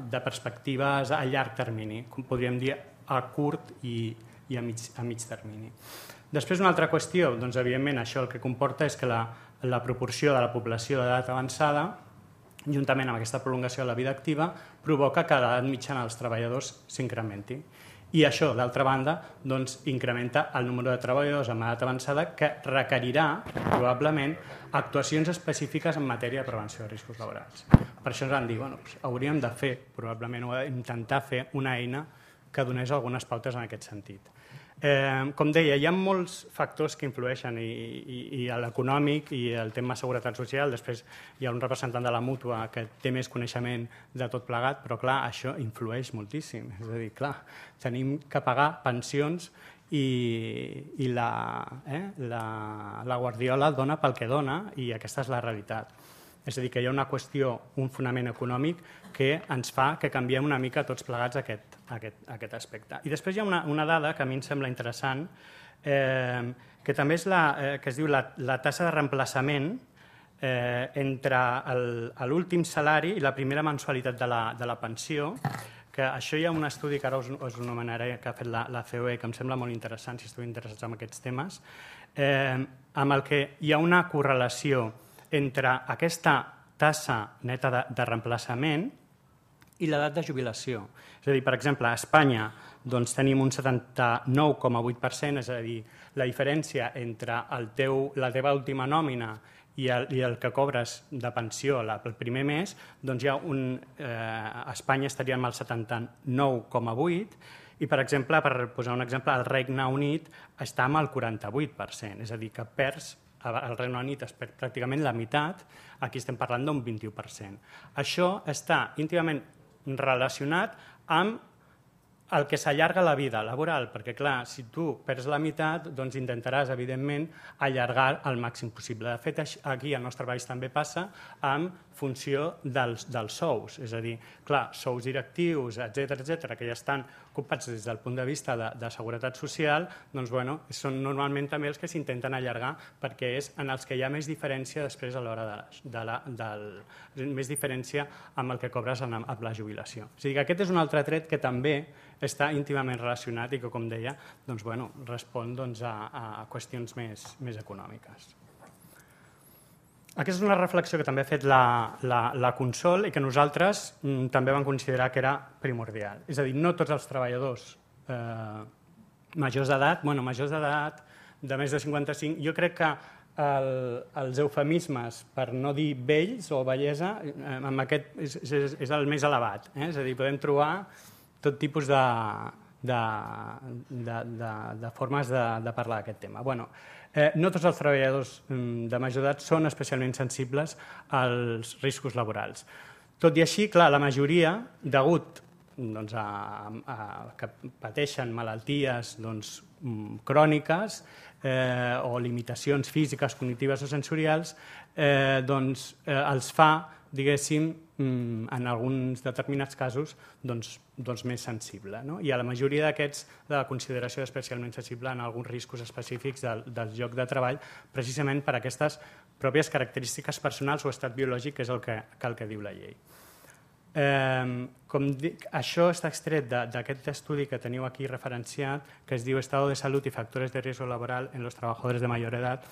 S4: de perspectives a llarg termini, com podríem dir a curt i, i a, mig, a mig termini. Després, una altra qüestió, doncs, evidentment, això el que comporta és que la, la proporció de la població d'edat avançada, juntament amb aquesta prolongació de la vida activa, provoca que l'edat mitjana dels treballadors s'incrementi. I això, d'altra banda, doncs, incrementa el número de treballadors amb edat avançada que requerirà, probablement, actuacions específiques en matèria de prevenció de riscos laborals. Per això ens van dir, bueno, doncs, hauríem de fer, probablement, o intentar fer una eina que donés algunes pautes en aquest sentit. Eh, com deia, hi ha molts factors que influeixen, i, i, i l'econòmic i el tema seguretat social. Després hi ha un representant de la mútua que té més coneixement de tot plegat, però clar, això influeix moltíssim. És a dir, clar, tenim que pagar pensions i, i la, eh, la, la Guardiola dona pel que dona, i aquesta és la realitat. És a dir, que hi ha una qüestió, un fonament econòmic que ens fa que canviem una mica tots plegats aquest, aquest, aquest aspecte. I després hi ha una, una dada que a mi em sembla interessant, eh, que també és la, eh, que es diu la, la tassa de reemplaçament eh, entre l'últim salari i la primera mensualitat de la, de la pensió, que això hi ha un estudi que ara us, us anomenaré, que ha fet la, la C O E, que em sembla molt interessant, si esteu interessats en aquests temes, eh, amb el que hi ha una correlació entre aquesta tassa neta de, de reemplaçament i l'edat de jubilació. És a dir, per exemple, a Espanya doncs, tenim un setanta-nou coma vuit per cent, és a dir, la diferència entre el teu, la teva última nòmina i el, i el que cobres de pensió la, el primer mes, doncs hi ha un, eh, a Espanya estaríem al setanta-nou coma vuit i, per exemple, per posar un exemple, el Regne Unit està amb el quaranta-vuit per cent, és a dir, que perds al Regne Unit es perd pràcticament la meitat, aquí estem parlant d'un vint-i-u per cent. Això està íntimament relacionat amb el que s'allarga la vida laboral, perquè, clar, si tu perds la meitat, doncs intentaràs, evidentment, allargar el màxim possible. De fet, aquí al nostre país també passa en funció dels, dels sous, és a dir, clar, sous directius, etcètera, etcètera, que ja estan ocupats des del punt de vista de, de seguretat social, doncs, bueno, són normalment també els que s'intenten allargar perquè és en els que hi ha més diferència després a l'hora de, de la, del, més diferència amb el que cobres en, amb la jubilació. O sigui que aquest és un altre tret que també està íntimament relacionat i que, com deia, doncs, bueno, respon doncs, a, a qüestions més, més econòmiques. Aquesta és una reflexió que també ha fet la, la, la Consol i que nosaltres mm, també vam considerar que era primordial. És a dir, no tots els treballadors eh, majors d'edat, bueno, majors d'edat de més de cinquanta-cinc, jo crec que el, els eufemismes, per no dir vells o bellesa, eh, amb aquest és, és, és el més elevat. Eh? És a dir, podem trobar tot tipus de, de, de, de, de formes de, de parlar d'aquest tema. Bueno, eh, no tots els treballadors de major edat són especialment sensibles als riscos laborals. Tot i així, clar, la majoria, degut doncs, a, a, que pateixen malalties doncs, cròniques eh, o limitacions físiques, cognitives o sensorials, eh, doncs, eh, els fa, diguéssim, en alguns determinats casos, doncs, doncs més sensible. No? I a la majoria d'aquests, de la consideració especialment sensible en alguns riscos específics del, del lloc de treball, precisament per aquestes pròpies característiques personals o estat biològic, que és el que, que, el que diu la llei. Eh, com dic, això està extret d'aquest estudi que teniu aquí referenciat, que es diu Estado de Salud y Factores de Riesgo Laboral en los Trabajadores de Mayor Edad,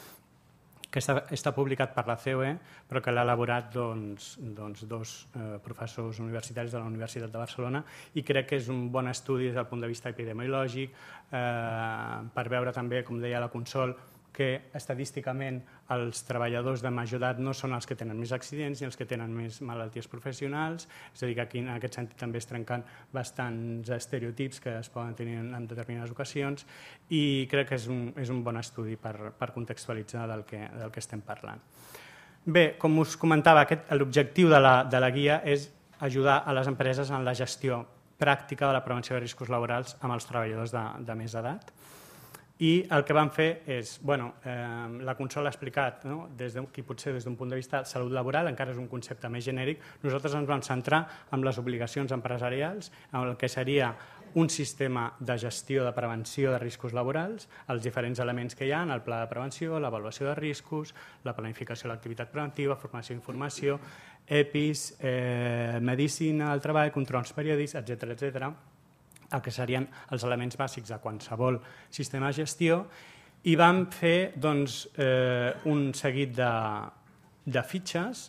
S4: que està, està publicat per la C O E, però que l'ha elaborat doncs, doncs, dos eh, professors universitaris de la Universitat de Barcelona, i crec que és un bon estudi des del punt de vista epidemiològic, eh, per veure també, com deia la Consol, que estadísticament els treballadors de major edat no són els que tenen més accidents ni els que tenen més malalties professionals, és a dir, que aquí en aquest sentit també es trenquen bastants estereotips que es poden tenir en determinades ocasions, i crec que és un, és un bon estudi per, per contextualitzar del que, del que estem parlant. Bé, com us comentava, l'objectiu de, la, de la guia és ajudar a les empreses en la gestió pràctica de la prevenció de riscos laborals amb els treballadors de, de més edat. I el que vam fer és, bueno, eh, la Consol ha explicat, no? Des de, qui potser des d'un punt de vista de salut laboral, encara és un concepte més genèric, nosaltres ens vam centrar en les obligacions empresarials, en el que seria un sistema de gestió de prevenció de riscos laborals, els diferents elements que hi ha, el pla de prevenció, l'avaluació de riscos, la planificació de l'activitat preventiva, formació i informació, E P I S, eh, medicina del treball, controls periòdics, etcètera, etcètera, el que serien els elements bàsics de qualsevol sistema de gestió, i vam fer doncs, eh, un seguit de, de fitxes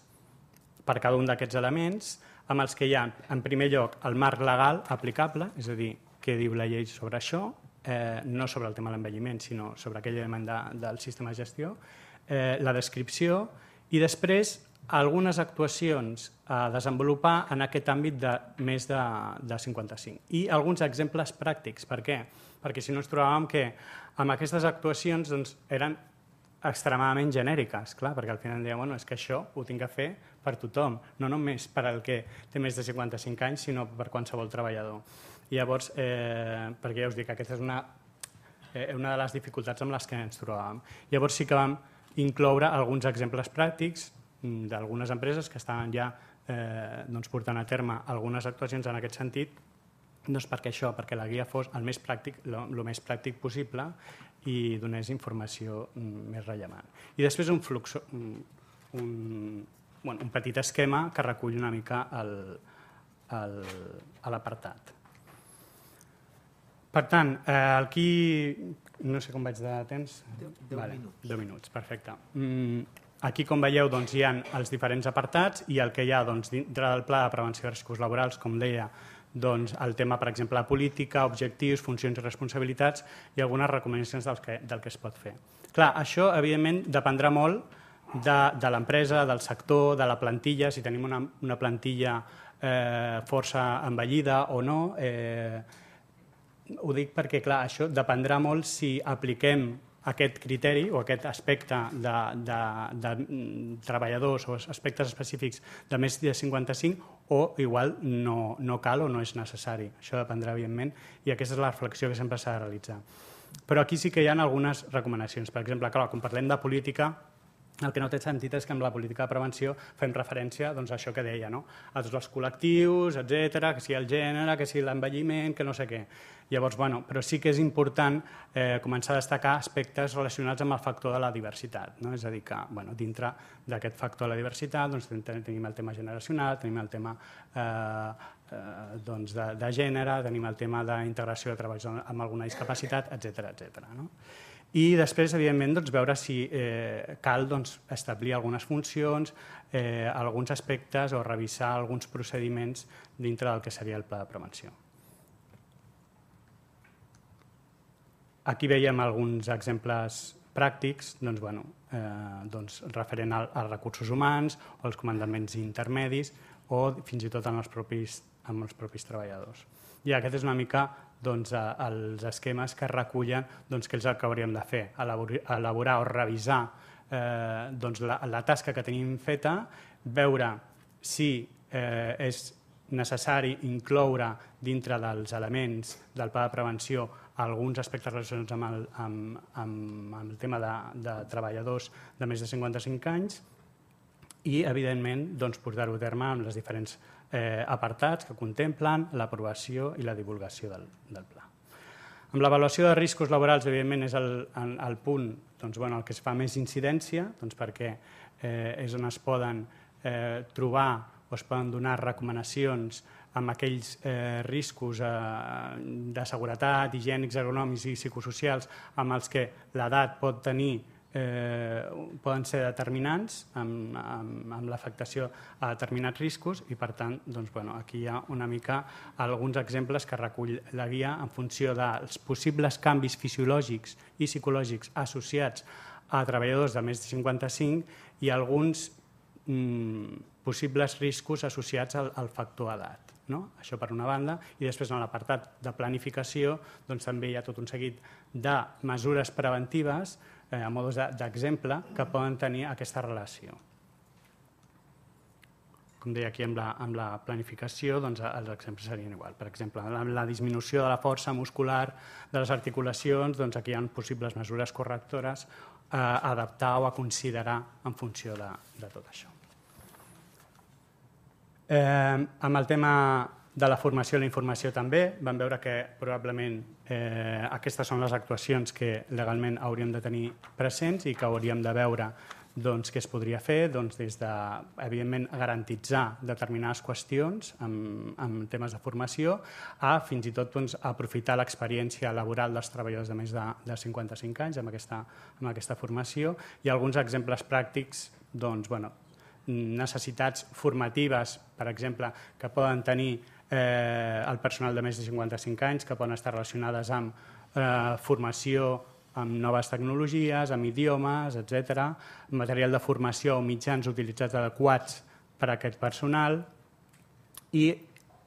S4: per cada un d'aquests elements, amb els que hi ha, en primer lloc, el marc legal aplicable, és a dir, què diu la llei sobre això, eh, no sobre el tema de l'envelliment, sinó sobre aquell element de, del sistema de gestió, eh, la descripció, i després algunes actuacions a desenvolupar en aquest àmbit de més de, de cinquanta-cinc. I alguns exemples pràctics. Per què? Perquè si no ens trobàvem que amb aquestes actuacions doncs, eren extremadament genèriques, clar, perquè al final dèiem, bueno, és que això ho tinc que fer per tothom, no només per al que té més de cinquanta-cinc anys, sinó per qualsevol treballador. I llavors, eh, perquè ja us dic, aquesta és una, eh, una de les dificultats amb les que ens trobàvem. Llavors sí que vam incloure alguns exemples pràctics d'algunes empreses que estaven ja eh, doncs portant a terme algunes actuacions en aquest sentit, doncs perquè això, perquè la guia fos el més pràctic, el més pràctic possible i donés informació més rellevant. I després un flux, un, un, bueno, un petit esquema que recull una mica el, el, l'apartat. Per tant, eh, aquí, no sé com vaig de temps.
S5: deu
S4: vale,
S5: minuts.
S4: deu minuts, perfecte. Mm, Aquí, com veieu, doncs, hi ha els diferents apartats i el que hi ha doncs, dintre del pla de prevenció de riscos laborals, com deia, doncs, el tema, per exemple, política, objectius, funcions i responsabilitats i algunes recomanacions del que, del que es pot fer. Clar, això, evidentment, dependrà molt de, de l'empresa, del sector, de la plantilla, si tenim una, una plantilla eh, força envellida o no. Eh, ho dic perquè, clar, això dependrà molt si apliquem aquest criteri o aquest aspecte de, de, de treballadors o aspectes específics de més de cinquanta-cinc o igual no, no cal o no és necessari. Això dependrà, evidentment, i aquesta és la reflexió que sempre s'ha de realitzar. Però aquí sí que hi ha algunes recomanacions. Per exemple, clar, quan parlem de política, el que no té sentit és que amb la política de prevenció fem referència doncs, a això que deia, no? A tots els col·lectius, etcètera, que sigui el gènere, que sigui l'envelliment, que no sé què. Llavors, bueno, però sí que és important eh, començar a destacar aspectes relacionats amb el factor de la diversitat. No? És a dir, que bueno, dintre d'aquest factor de la diversitat doncs, tenim el tema generacional, tenim el tema eh, eh, doncs, de, de gènere, tenim el tema d'integració de treballs amb alguna discapacitat, etcètera, etcètera. No? I després, evidentment, doncs, veure si eh, cal doncs, establir algunes funcions, eh, alguns aspectes o revisar alguns procediments dintre del que seria el pla de prevenció. Aquí veiem alguns exemples pràctics doncs, bueno, eh, doncs, referent als recursos humans o als comandaments intermedis o fins i tot en els propis, amb els propis treballadors. I aquest és una mica doncs, els esquemes que recullen doncs, què és el que hauríem de fer, elaborar, elaborar o revisar eh, doncs, la, la tasca que tenim feta, veure si eh, és necessari incloure dintre dels elements del pla de prevenció alguns aspectes relacionats amb el, amb, amb, amb el tema de, de treballadors de més de cinquanta-cinc anys i, evidentment, doncs, portar-ho a terme amb les diferents eh, apartats que contemplen l'aprovació i la divulgació del, del pla. Amb l'avaluació de riscos laborals, evidentment, és el, el, el punt doncs, bueno, el que es fa més incidència, doncs, perquè eh, és on es poden eh, trobar o es poden donar recomanacions amb aquells eh, riscos eh, de seguretat, higiènics, ergonòmics i psicosocials amb els que l'edat pot tenir Eh, poden ser determinants amb, amb, amb l'afectació a determinats riscos i, per tant, doncs, bueno, aquí hi ha una mica alguns exemples que recull la guia en funció dels possibles canvis fisiològics i psicològics associats a treballadors de més de cinquanta-cinc i alguns mm, possibles riscos associats al, al factor edat. No? Això per una banda, i després en l'apartat de planificació doncs, també hi ha tot un seguit de mesures preventives eh, a modos d'exemple que poden tenir aquesta relació. com deia aquí, amb la, amb la planificació, doncs els exemples serien igual. Per exemple, amb la disminució de la força muscular de les articulacions, doncs aquí hi ha possibles mesures correctores a adaptar o a considerar en funció de, de tot això. Eh, amb el tema de la formació i la informació també, vam veure que probablement eh, aquestes són les actuacions que legalment hauríem de tenir presents i que hauríem de veure doncs, què es podria fer, doncs, des de, evidentment, garantitzar determinades qüestions en, en temes de formació a fins i tot doncs, aprofitar l'experiència laboral dels treballadors de més de, de cinquanta-cinc anys amb aquesta, amb aquesta formació i alguns exemples pràctics, doncs, bueno, necessitats formatives, per exemple, que poden tenir eh, el personal de més de cinquanta-cinc anys, que poden estar relacionades amb eh, formació amb noves tecnologies, amb idiomes, etcètera, material de formació o mitjans utilitzats adequats per a aquest personal i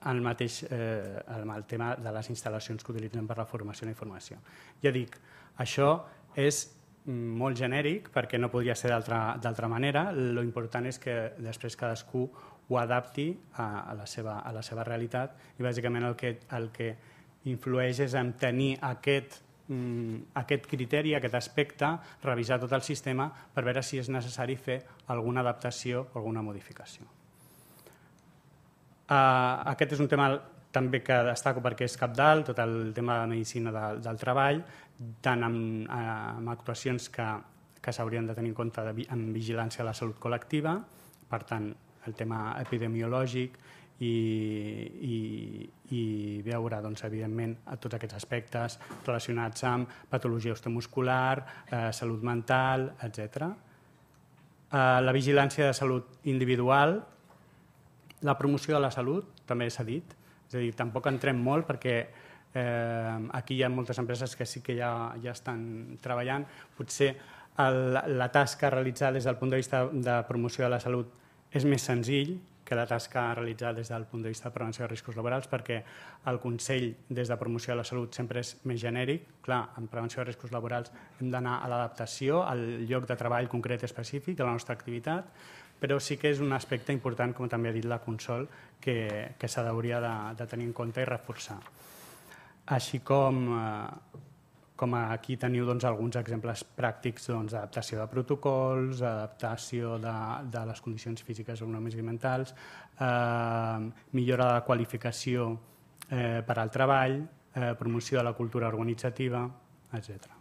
S4: el mateix eh, el tema de les instal·lacions que utilitzen per la formació i la informació. Ja dic, això és molt genèric perquè no podria ser d'altra manera. Lo important és que després cadascú ho adapti a, a, la, seva, a la seva realitat i bàsicament el que, el que influeix és en tenir aquest, mm, aquest criteri, aquest aspecte, revisar tot el sistema per veure si és necessari fer alguna adaptació o alguna modificació. Uh, aquest és un tema també que destaco perquè és cabdal, tot el tema de medicina de, del treball, tant amb, amb actuacions que, que s'haurien de tenir en compte de, en vigilància de la salut col·lectiva, per tant, el tema epidemiològic i, i, i veure, doncs, evidentment, tots aquests aspectes relacionats amb patologia osteomuscular, eh, salut mental, etcètera. Eh, la vigilància de salut individual, la promoció de la salut, també s'ha dit, és a dir, tampoc entrem molt perquè eh, aquí hi ha moltes empreses que sí que ja, ja estan treballant. Potser el, la tasca a realitzar des del punt de vista de promoció de la salut és més senzill que la tasca a realitzar des del punt de vista de prevenció de riscos laborals perquè el Consell des de promoció de la salut sempre és més genèric. Clar, en prevenció de riscos laborals hem d'anar a l'adaptació, al lloc de treball concret específic de la nostra activitat, però sí que és un aspecte important, com també ha dit la Consol, que, que s'hauria de, de tenir en compte i reforçar. Així com, eh, com aquí teniu doncs, alguns exemples pràctics doncs, d'adaptació de protocols, adaptació de, de les condicions físiques, econòmiques i mentals, eh, millora de la qualificació eh, per al treball, eh, promoció de la cultura organitzativa, etcètera.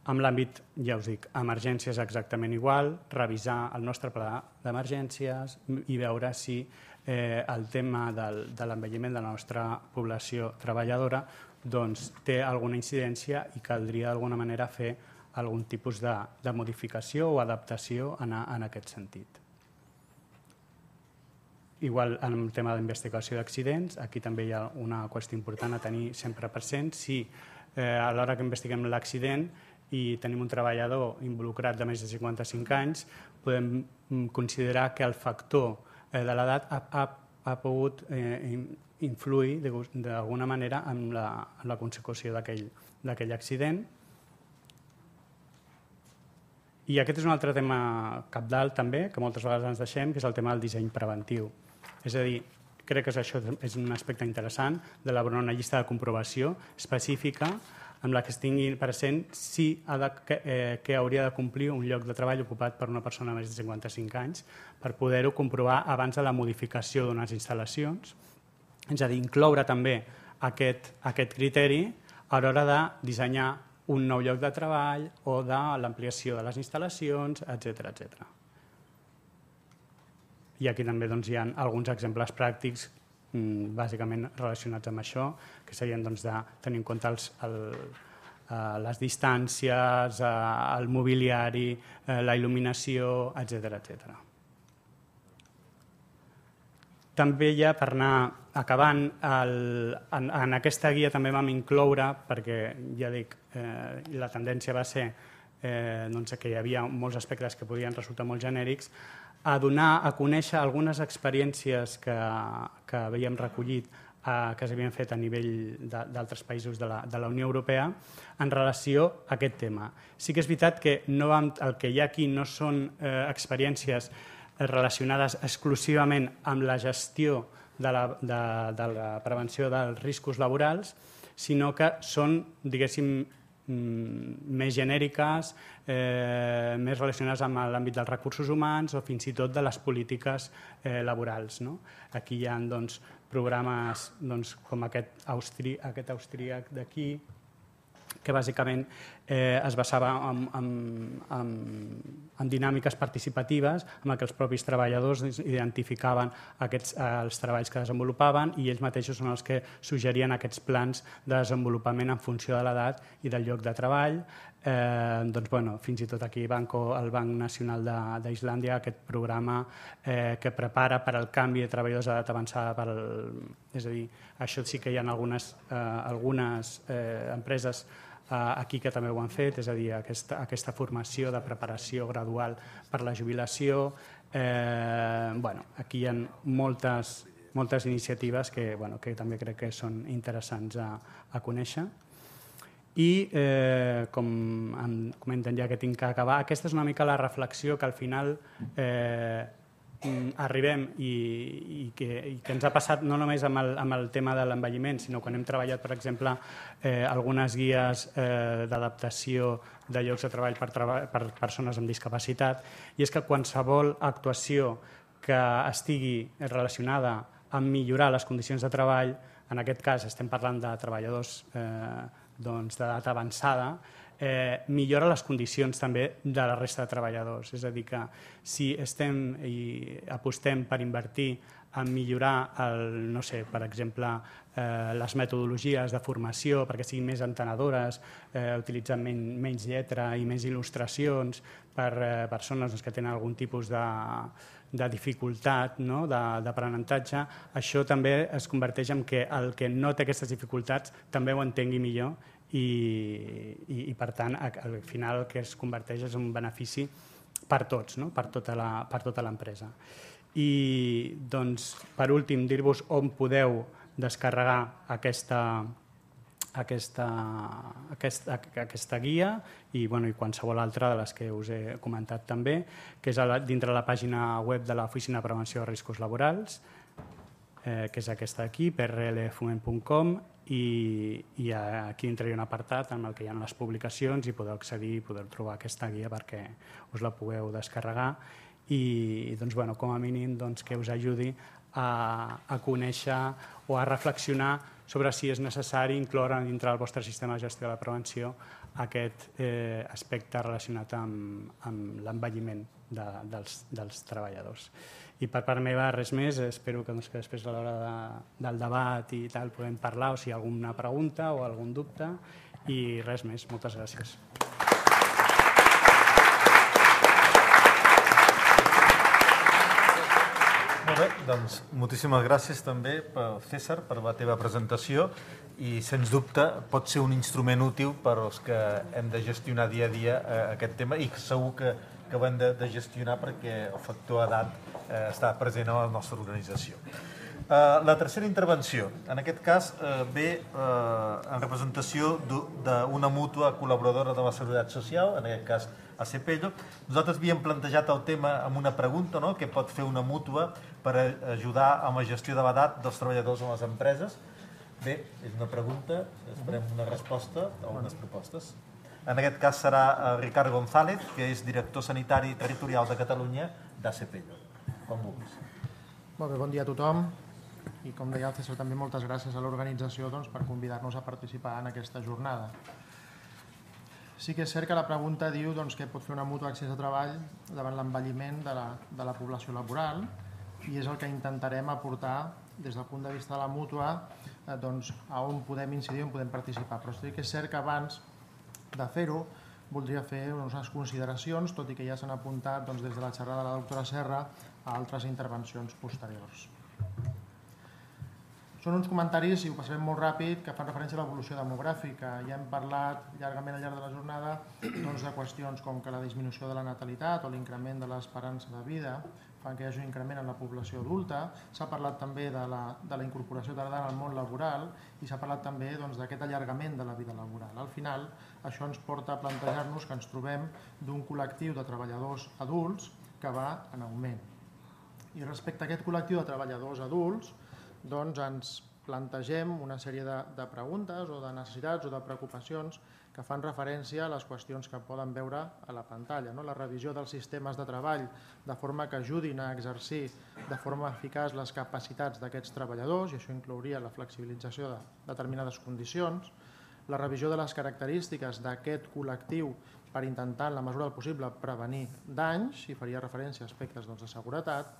S4: En l'àmbit, ja us dic, emergències exactament igual, revisar el nostre pla d'emergències i veure si eh, el tema del, de l'envelliment de la nostra població treballadora doncs, té alguna incidència i caldria d'alguna manera fer algun tipus de, de modificació o adaptació en, en aquest sentit. Igual en el tema d'investigació d'accidents, aquí també hi ha una qüestió important a tenir sempre present. Si eh, a l'hora que investiguem l'accident i tenim un treballador involucrat de més de cinquanta-cinc anys, podem considerar que el factor de l'edat ha, ha, ha pogut eh, influir d'alguna manera en la, en la consecució d'aquell accident. I aquest és un altre tema cabdal també, que moltes vegades ens deixem, que és el tema del disseny preventiu. És a dir, crec que això és un aspecte interessant d'elaborar una llista de comprovació específica amb la que es tingui present si ha de, que, eh, que hauria de complir un lloc de treball ocupat per una persona de més de cinquanta-cinc anys per poder-ho comprovar abans de la modificació d'unes instal·lacions. És a dir, incloure també aquest, aquest criteri a l'hora de dissenyar un nou lloc de treball o de l'ampliació de les instal·lacions, etcètera, etcètera. I aquí també doncs, hi ha alguns exemples pràctics bàsicament relacionats amb això, que serien doncs, de tenir en compte els, el, eh, les distàncies, eh, el mobiliari, eh, la il·luminació, etcètera, etcètera. També ja per anar acabant, el, en, en aquesta guia també vam incloure, perquè ja dic, eh, la tendència va ser eh, doncs, que hi havia molts aspectes que podien resultar molt genèrics, a donar a conèixer algunes experiències que, que havíem recollit, eh, que s'havien fet a nivell d'altres països de la, de la Unió Europea en relació a aquest tema. Sí que és veritat que no vam, el que hi ha aquí no són eh, experiències relacionades exclusivament amb la gestió de la, de, de la prevenció dels riscos laborals, sinó que són, diguéssim, més genèriques, eh, més relacionades amb l'àmbit dels recursos humans o fins i tot de les polítiques eh, laborals. No? Aquí hi ha doncs, programes doncs, com aquest, austri, aquest austríac d'aquí, que bàsicament eh, es basava en, en, en, en dinàmiques participatives en què els propis treballadors identificaven aquests, els treballs que desenvolupaven i ells mateixos són els que suggerien aquests plans de desenvolupament en funció de l'edat i del lloc de treball. Eh, doncs, bueno, fins i tot aquí Banco, el Banc Nacional d'Islàndia, aquest programa eh, que prepara per al canvi de treballadors d'edat avançada. Per al, és a dir, això sí que hi ha algunes, eh, algunes eh, empreses aquí que també ho han fet, és a dir, aquesta, aquesta formació de preparació gradual per la jubilació. Eh, bueno, aquí hi ha moltes, moltes iniciatives que, bueno, que també crec que són interessants a, a conèixer. I, eh, com em comenten ja que tinc que acabar, aquesta és una mica la reflexió que al final eh, arribem i, i, que, i que ens ha passat no només amb el, amb el tema de l'envelliment, sinó quan hem treballat, per exemple, eh, algunes guies eh, d'adaptació de llocs de treball per, treba per persones amb discapacitat, i és que qualsevol actuació que estigui relacionada amb millorar les condicions de treball, en aquest cas estem parlant de treballadors eh, doncs, d'edat avançada, Eh, millora les condicions també de la resta de treballadors. És a dir, que si estem i apostem per invertir en millorar, el, no sé, per exemple, eh, les metodologies de formació perquè siguin més entenedores, eh, utilitzant men menys lletra i més il·lustracions per eh, persones doncs, que tenen algun tipus de, de dificultat, no? d'aprenentatge, això també es converteix en que el que no té aquestes dificultats també ho entengui millor i, i, i per tant, al final el que es converteix és un benefici per tots, no? per tota la, per tota l'empresa. I, doncs, per últim, dir-vos on podeu descarregar aquesta, aquesta, aquesta, aquesta guia i, bueno, i qualsevol altra de les que us he comentat també, que és a la, dintre la pàgina web de l'Oficina de Prevenció de Riscos Laborals, eh, que és aquesta d'aquí, p r l foment punt com, i, i aquí dintre hi ha un apartat en el que hi ha les publicacions i podeu accedir i podeu trobar aquesta guia perquè us la pugueu descarregar i, doncs, bueno, com a mínim doncs, que us ajudi a, a conèixer o a reflexionar sobre si és necessari incloure dintre del vostre sistema de gestió de la prevenció aquest eh, aspecte relacionat amb, amb l'envelliment de, dels, dels treballadors. I per part meva res més, espero que, doncs, que després a l'hora de, del debat i tal podem parlar o si hi ha alguna pregunta o algun dubte i res més, moltes gràcies.
S1: Molt bé, doncs moltíssimes gràcies també, César, per la teva presentació i, sens dubte, pot ser un instrument útil per als que hem de gestionar dia a dia aquest tema i segur que, que ho hem de, de gestionar perquè el factor edat eh, està present a la nostra organització. Eh, la tercera intervenció, en aquest cas, eh, ve eh, en representació d'una mútua col·laboradora de la Seguretat Social, en aquest cas a Cepello. Nosaltres havíem plantejat el tema amb una pregunta, no?, que pot fer una mútua per ajudar amb la gestió de l'edat dels treballadors en les empreses. Bé, és una pregunta, esperem una resposta a unes propostes. En aquest cas serà Ricard González, que és director sanitari territorial de Catalunya d'A Cepello. Com vulguis.
S5: Molt bé, bon dia a tothom. I com deia el César, també moltes gràcies a l'organització doncs, per convidar-nos a participar en aquesta jornada. Sí que és cert que la pregunta diu doncs, que pot fer una mútua accés a treball davant l'envelliment de, la, de la població laboral i és el que intentarem aportar des del punt de vista de la mútua eh, doncs, a on podem incidir, on podem participar. Però sí que és cert que abans de fer-ho voldria fer unes consideracions, tot i que ja s'han apuntat doncs, des de la xerrada de la doctora Serra a altres intervencions posteriors. Són uns comentaris, i ho passarem molt ràpid, que fan referència a l'evolució demogràfica. Ja hem parlat llargament al llarg de la jornada doncs, de qüestions com que la disminució de la natalitat o l'increment de l'esperança de vida fan que hi hagi un increment en la població adulta. S'ha parlat també de la, de la incorporació tardana al món laboral i s'ha parlat també doncs, d'aquest allargament de la vida laboral. Al final, això ens porta a plantejar-nos que ens trobem d'un col·lectiu de treballadors adults que va en augment. I respecte a aquest col·lectiu de treballadors adults, doncs ens plantegem una sèrie de, de preguntes o de necessitats o de preocupacions que fan referència a les qüestions que poden veure a la pantalla. No? La revisió dels sistemes de treball de forma que ajudin a exercir de forma eficaç les capacitats d'aquests treballadors, i això inclouria la flexibilització de determinades condicions, la revisió de les característiques d'aquest col·lectiu per intentar, en la mesura del possible, prevenir danys, i faria referència a aspectes doncs, de seguretat,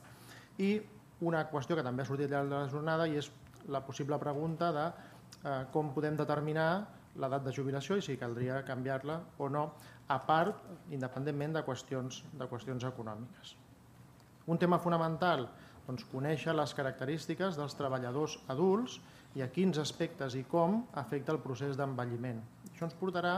S5: i una qüestió que també ha sortit al llarg de la jornada i és la possible pregunta de eh, com podem determinar l'edat de jubilació i si caldria canviar-la o no, a part, independentment de qüestions, de qüestions econòmiques. Un tema fonamental, doncs, conèixer les característiques dels treballadors adults i a quins aspectes i com afecta el procés d'envelliment. Això ens portarà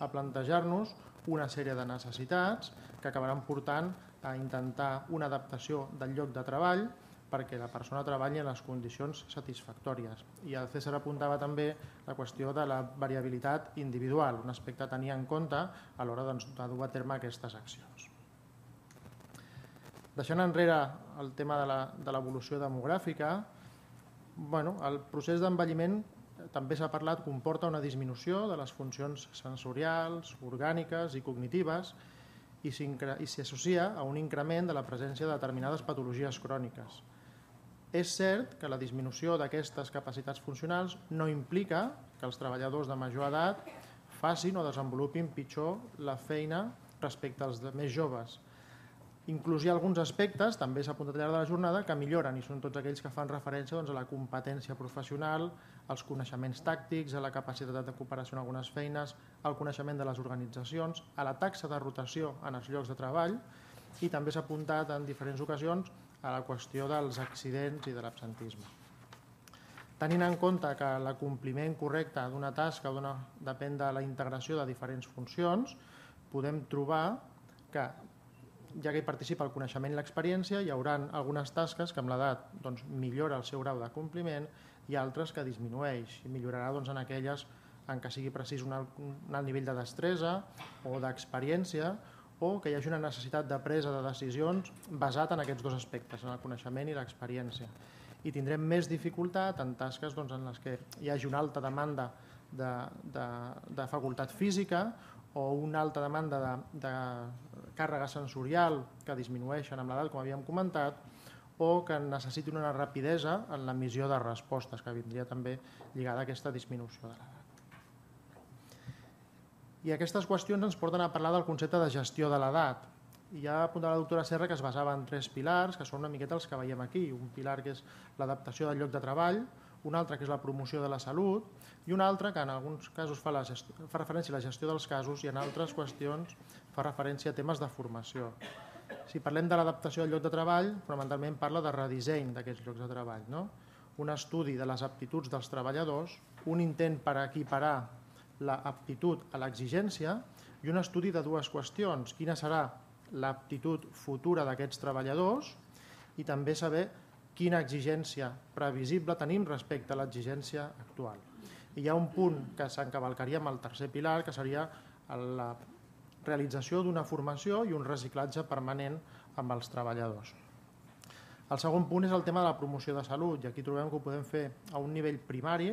S5: a plantejar-nos una sèrie de necessitats que acabaran portant a intentar una adaptació del lloc de treball perquè la persona treballi en les condicions satisfactòries. I el César apuntava també la qüestió de la variabilitat individual, un aspecte a tenir en compte a l'hora doncs, de dur a terme aquestes accions. Deixant enrere el tema de l'evolució demogràfica, bueno, el procés d'envelliment també s'ha parlat, comporta una disminució de les funcions sensorials, orgàniques i cognitives i s'hi associa a un increment de la presència de determinades patologies cròniques. És cert que la disminució d'aquestes capacitats funcionals no implica que els treballadors de major edat facin o desenvolupin pitjor la feina respecte als més joves. Inclús hi ha alguns aspectes, també s'ha apuntat al llarg de la jornada, que milloren i són tots aquells que fan referència doncs, a la competència professional, als coneixements tàctics, a la capacitat de cooperació en algunes feines, al coneixement de les organitzacions, a la taxa de rotació en els llocs de treball i també s'ha apuntat en diferents ocasions a la qüestió dels accidents i de l'absentisme. Tenint en compte que l'acompliment correcte d'una tasca depèn de la integració de diferents funcions, podem trobar que, ja que hi participa el coneixement i l'experiència, hi haurà algunes tasques que amb l'edat doncs, millora el seu grau de compliment i altres que disminueix i millorarà doncs, en aquelles en què sigui precís un alt, un alt nivell de destresa o d'experiència o que hi hagi una necessitat de presa de decisions basat en aquests dos aspectes, en el coneixement i l'experiència. I tindrem més dificultat en tasques doncs, en les que hi hagi una alta demanda de, de, de facultat física o una alta demanda de, de càrrega sensorial que disminueixen amb l'edat, com havíem comentat, o que necessitin una rapidesa en l'emissió de respostes, que vindria també lligada a aquesta disminució de l'edat. I aquestes qüestions ens porten a parlar del concepte de gestió de l'edat. I ja apuntava la doctora Serra que es basava en tres pilars, que són una miqueta els que veiem aquí. Un pilar que és l'adaptació del lloc de treball, un altre que és la promoció de la salut i un altre que en alguns casos fa, la gestió, fa referència a la gestió dels casos i en altres qüestions fa referència a temes de formació. Si parlem de l'adaptació del lloc de treball, fonamentalment parla de redisseny d'aquests llocs de treball, no? Un estudi de les aptituds dels treballadors, un intent per equiparar l'aptitud a l'exigència i un estudi de dues qüestions. Quina serà l'aptitud futura d'aquests treballadors i també saber quina exigència previsible tenim respecte a l'exigència actual. I hi ha un punt que s'encavalcaria amb el tercer pilar, que seria la realització d'una formació i un reciclatge permanent amb els treballadors. El segon punt és el tema de la promoció de salut, i aquí trobem que ho podem fer a un nivell primari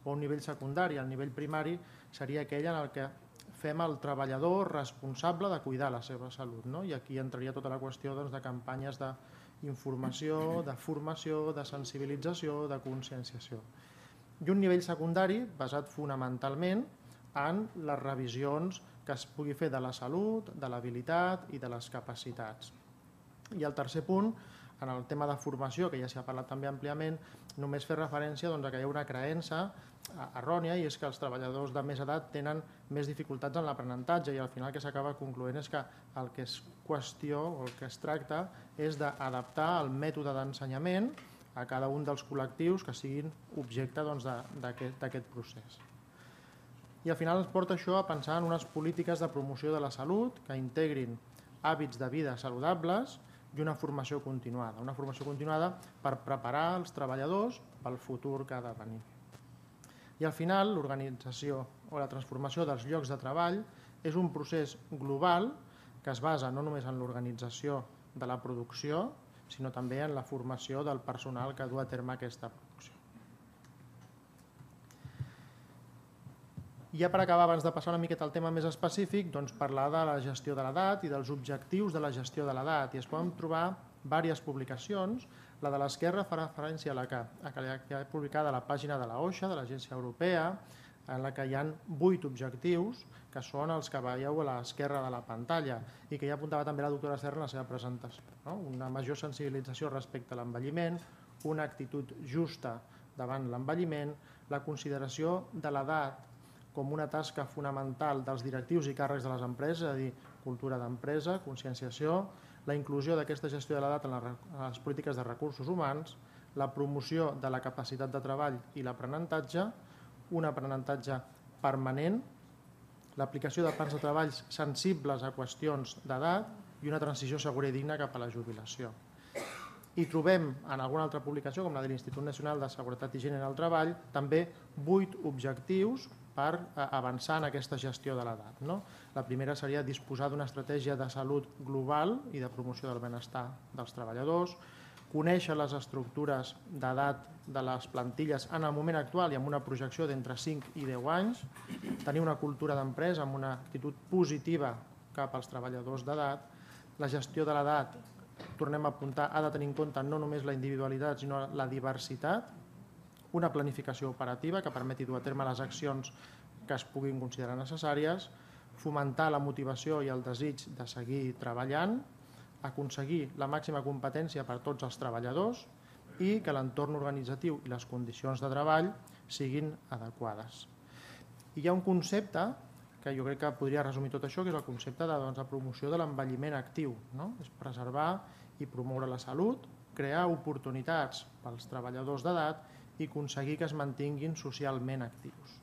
S5: o a un nivell secundari. El nivell primari seria aquell en el que fem el treballador responsable de cuidar la seva salut, no? I aquí entraria tota la qüestió doncs, de campanyes d'informació, de formació, de sensibilització, de conscienciació. I un nivell secundari basat fonamentalment en les revisions que es pugui fer de la salut, de l'habilitat i de les capacitats. I el tercer punt, en el tema de formació, que ja s'ha parlat també àmpliament, només fer referència doncs, a que hi ha una creença errònia i és que els treballadors de més edat tenen més dificultats en l'aprenentatge i al final el que s'acaba concloent és que el que és qüestió o el que es tracta és d'adaptar el mètode d'ensenyament a cada un dels col·lectius que siguin objecte doncs, d'aquest procés. I al final ens porta això a pensar en unes polítiques de promoció de la salut que integrin hàbits de vida saludables i una formació continuada. Una formació continuada per preparar els treballadors pel futur que ha de venir. I al final, l'organització o la transformació dels llocs de treball és un procés global que es basa no només en l'organització de la producció, sinó també en la formació del personal que du a terme aquesta producció. I ja per acabar, abans de passar una miqueta al tema més específic, doncs parlar de la gestió de l'edat i dels objectius de la gestió de l'edat. I es poden trobar diverses publicacions. La de l'esquerra fa referència a la que, a que ha publicat a la pàgina de la O S H A, de l'Agència Europea, en la que hi ha vuit objectius, que són els que veieu a l'esquerra de la pantalla i que ja apuntava també la doctora Serra en la seva presentació. No? Una major sensibilització respecte a l'envelliment, una actitud justa davant l'envelliment, la consideració de l'edat com una tasca fonamental dels directius i càrrecs de les empreses, és a dir, cultura d'empresa, conscienciació, la inclusió d'aquesta gestió de l'edat en les polítiques de recursos humans, la promoció de la capacitat de treball i l'aprenentatge, un aprenentatge permanent, l'aplicació de plans de treballs sensibles a qüestions d'edat i una transició segura i digna cap a la jubilació. I trobem en alguna altra publicació, com la de l'Institut Nacional de Seguretat i Higiene en el Treball, també vuit objectius per avançar en aquesta gestió de l'edat. No? La primera seria disposar d'una estratègia de salut global i de promoció del benestar dels treballadors, conèixer les estructures d'edat de les plantilles en el moment actual i amb una projecció d'entre cinc i deu anys, tenir una cultura d'empresa amb una actitud positiva cap als treballadors d'edat, la gestió de l'edat, tornem a apuntar, ha de tenir en compte no només la individualitat sinó la diversitat, una planificació operativa que permeti dur a terme les accions que es puguin considerar necessàries, fomentar la motivació i el desig de seguir treballant, aconseguir la màxima competència per a tots els treballadors i que l'entorn organitzatiu i les condicions de treball siguin adequades. I hi ha un concepte que jo crec que podria resumir tot això, que és el concepte de doncs, la promoció de l'envelliment actiu. No? És preservar i promoure la salut, crear oportunitats pels treballadors d'edat i aconseguir que es mantinguin socialment actius.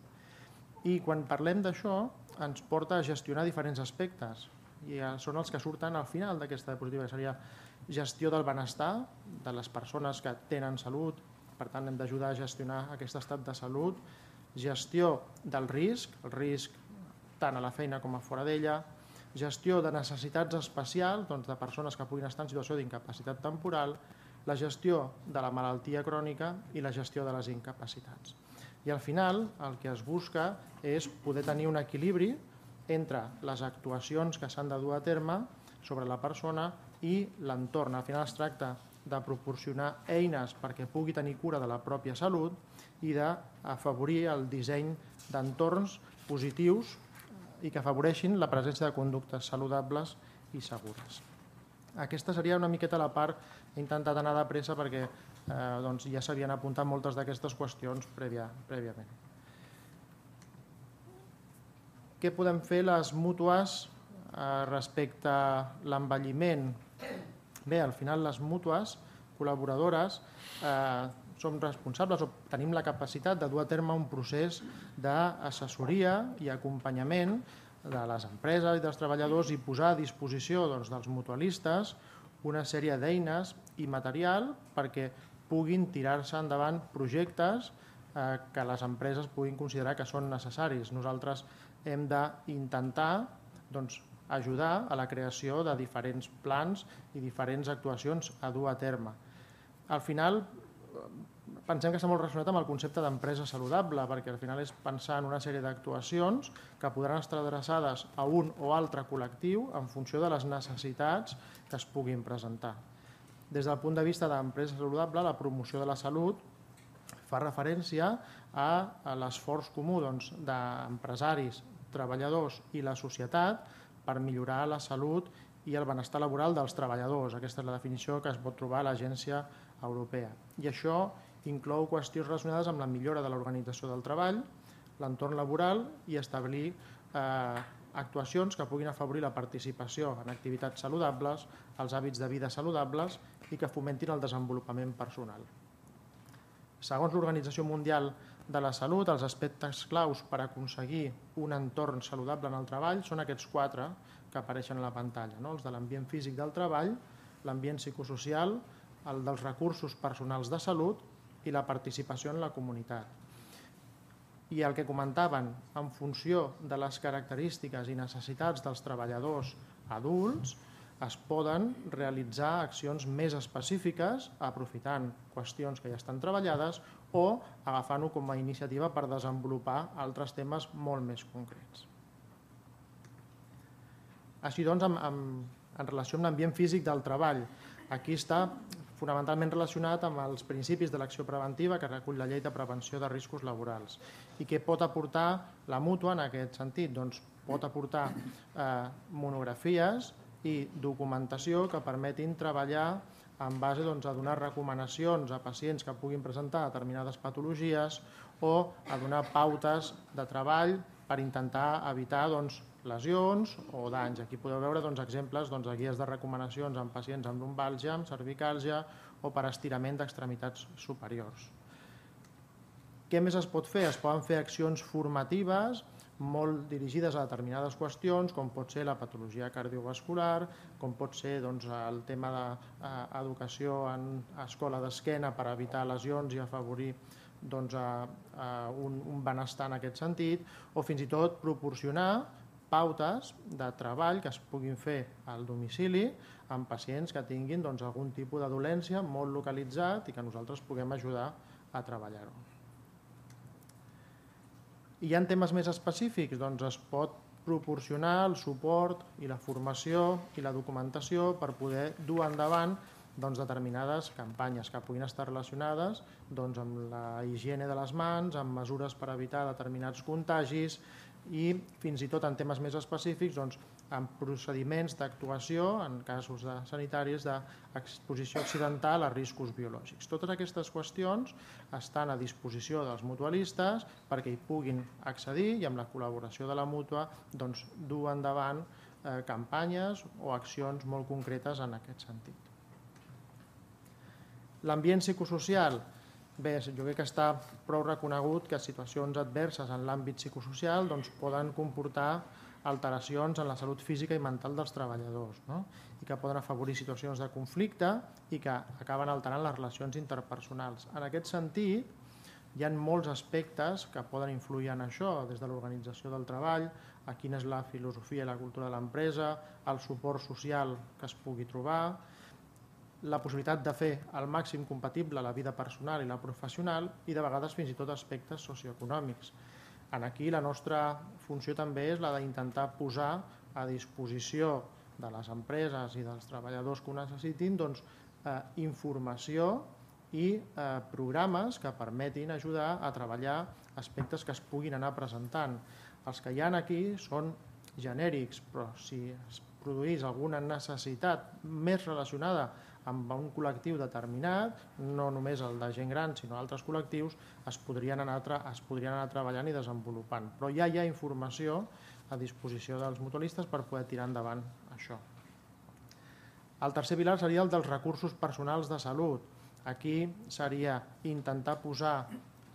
S5: I quan parlem d'això ens porta a gestionar diferents aspectes i són els que surten al final d'aquesta diapositiva, que seria gestió del benestar de les persones que tenen salut, per tant hem d'ajudar a gestionar aquest estat de salut, gestió del risc, el risc tant a la feina com a fora d'ella, gestió de necessitats especials doncs de persones que puguin estar en situació d'incapacitat temporal, la gestió de la malaltia crònica i la gestió de les incapacitats. I al final el que es busca és poder tenir un equilibri entre les actuacions que s'han de dur a terme sobre la persona i l'entorn. Al final es tracta de proporcionar eines perquè pugui tenir cura de la pròpia salut i d'afavorir el disseny d'entorns positius i que afavoreixin la presència de conductes saludables i segures. Aquesta seria una miqueta la part, he intentat anar de pressa perquè eh, doncs ja s'havien apuntat moltes d'aquestes qüestions prèvia, prèviament. Què podem fer les mútues eh, respecte a l'envelliment? Bé, al final les mútues col·laboradores eh, som responsables o tenim la capacitat de dur a terme un procés d'assessoria i acompanyament de les empreses i dels treballadors i posar a disposició doncs, dels mutualistes una sèrie d'eines i material perquè puguin tirar-se endavant projectes eh, que les empreses puguin considerar que són necessaris. Nosaltres hem d'intentar doncs, ajudar a la creació de diferents plans i diferents actuacions a dur a terme. Al final, pensem que està molt relacionat amb el concepte d'empresa saludable, perquè al final és pensar en una sèrie d'actuacions que podran estar adreçades a un o altre col·lectiu en funció de les necessitats que es puguin presentar. Des del punt de vista d'empresa saludable, la promoció de la salut fa referència a l'esforç comú doncs, d'empresaris, treballadors i la societat per millorar la salut i el benestar laboral dels treballadors. Aquesta és la definició que es pot trobar a l'Agència Europea. I això inclou qüestions relacionades amb la millora de l'organització del treball, l'entorn laboral i establir eh, actuacions que puguin afavorir la participació en activitats saludables, els hàbits de vida saludables i que fomentin el desenvolupament personal. Segons l'Organització Mundial de la Salut, els aspectes claus per aconseguir un entorn saludable en el treball són aquests quatre que apareixen a la pantalla, no? Els de l'ambient físic del treball, l'ambient psicosocial, el dels recursos personals de salut i la participació en la comunitat. I el que comentaven, en funció de les característiques i necessitats dels treballadors adults, es poden realitzar accions més específiques aprofitant qüestions que ja estan treballades o agafant-ho com a iniciativa per desenvolupar altres temes molt més concrets. Així doncs, en, en, en relació amb l'ambient físic del treball, aquí està fonamentalment relacionat amb els principis de l'acció preventiva que recull la Llei de Prevenció de Riscos Laborals. I què pot aportar la mútua en aquest sentit? Doncs pot aportar eh, monografies i documentació que permetin treballar en base doncs, a donar recomanacions a pacients que puguin presentar determinades patologies o a donar pautes de treball per intentar evitar doncs, lesions o danys. Aquí podeu veure doncs, exemples doncs, de guies de recomanacions en pacients amb lumbàlgia, amb cervicàlgia o per estirament d'extremitats superiors. Què més es pot fer? Es poden fer accions formatives molt dirigides a determinades qüestions, com pot ser la patologia cardiovascular, com pot ser doncs, el tema d'educació en escola d'esquena per evitar lesions i afavorir doncs, a, a un, un benestar en aquest sentit, o fins i tot proporcionar pautes de treball que es puguin fer al domicili amb pacients que tinguin doncs, algun tipus de dolència molt localitzat i que nosaltres puguem ajudar a treballar-ho. Hi ha temes més específics? Doncs es pot proporcionar el suport i la formació i la documentació per poder dur endavant doncs, determinades campanyes que puguin estar relacionades doncs, amb la higiene de les mans, amb mesures per evitar determinats contagis i fins i tot en temes més específics doncs, amb procediments d'actuació en casos de sanitaris d'exposició accidental a riscos biològics. Totes aquestes qüestions estan a disposició dels mutualistes perquè hi puguin accedir i amb la col·laboració de la mútua doncs, dur endavant eh, campanyes o accions molt concretes en aquest sentit. L'ambient psicosocial. Bé, jo crec que està prou reconegut que situacions adverses en l'àmbit psicosocial doncs, poden comportar alteracions en la salut física i mental dels treballadors, no? I que poden afavorir situacions de conflicte i que acaben alterant les relacions interpersonals. En aquest sentit, hi ha molts aspectes que poden influir en això, des de l'organització del treball, a quina és la filosofia i la cultura de l'empresa, el suport social que es pugui trobar, la possibilitat de fer al màxim compatible la vida personal i la professional i de vegades fins i tot aspectes socioeconòmics. Aquí la nostra funció també és la d'intentar posar a disposició de les empreses i dels treballadors que ho necessitin doncs, eh, informació i eh, programes que permetin ajudar a treballar aspectes que es puguin anar presentant. Els que hi ha aquí són genèrics, però si es produís alguna necessitat més relacionada amb un col·lectiu determinat, no només el de gent gran, sinó altres col·lectius, es podrien anar, es podrien anar treballant i desenvolupant. Però ja hi ha informació a disposició dels mutualistes per poder tirar endavant això. El tercer pilar seria el dels recursos personals de salut. Aquí seria intentar posar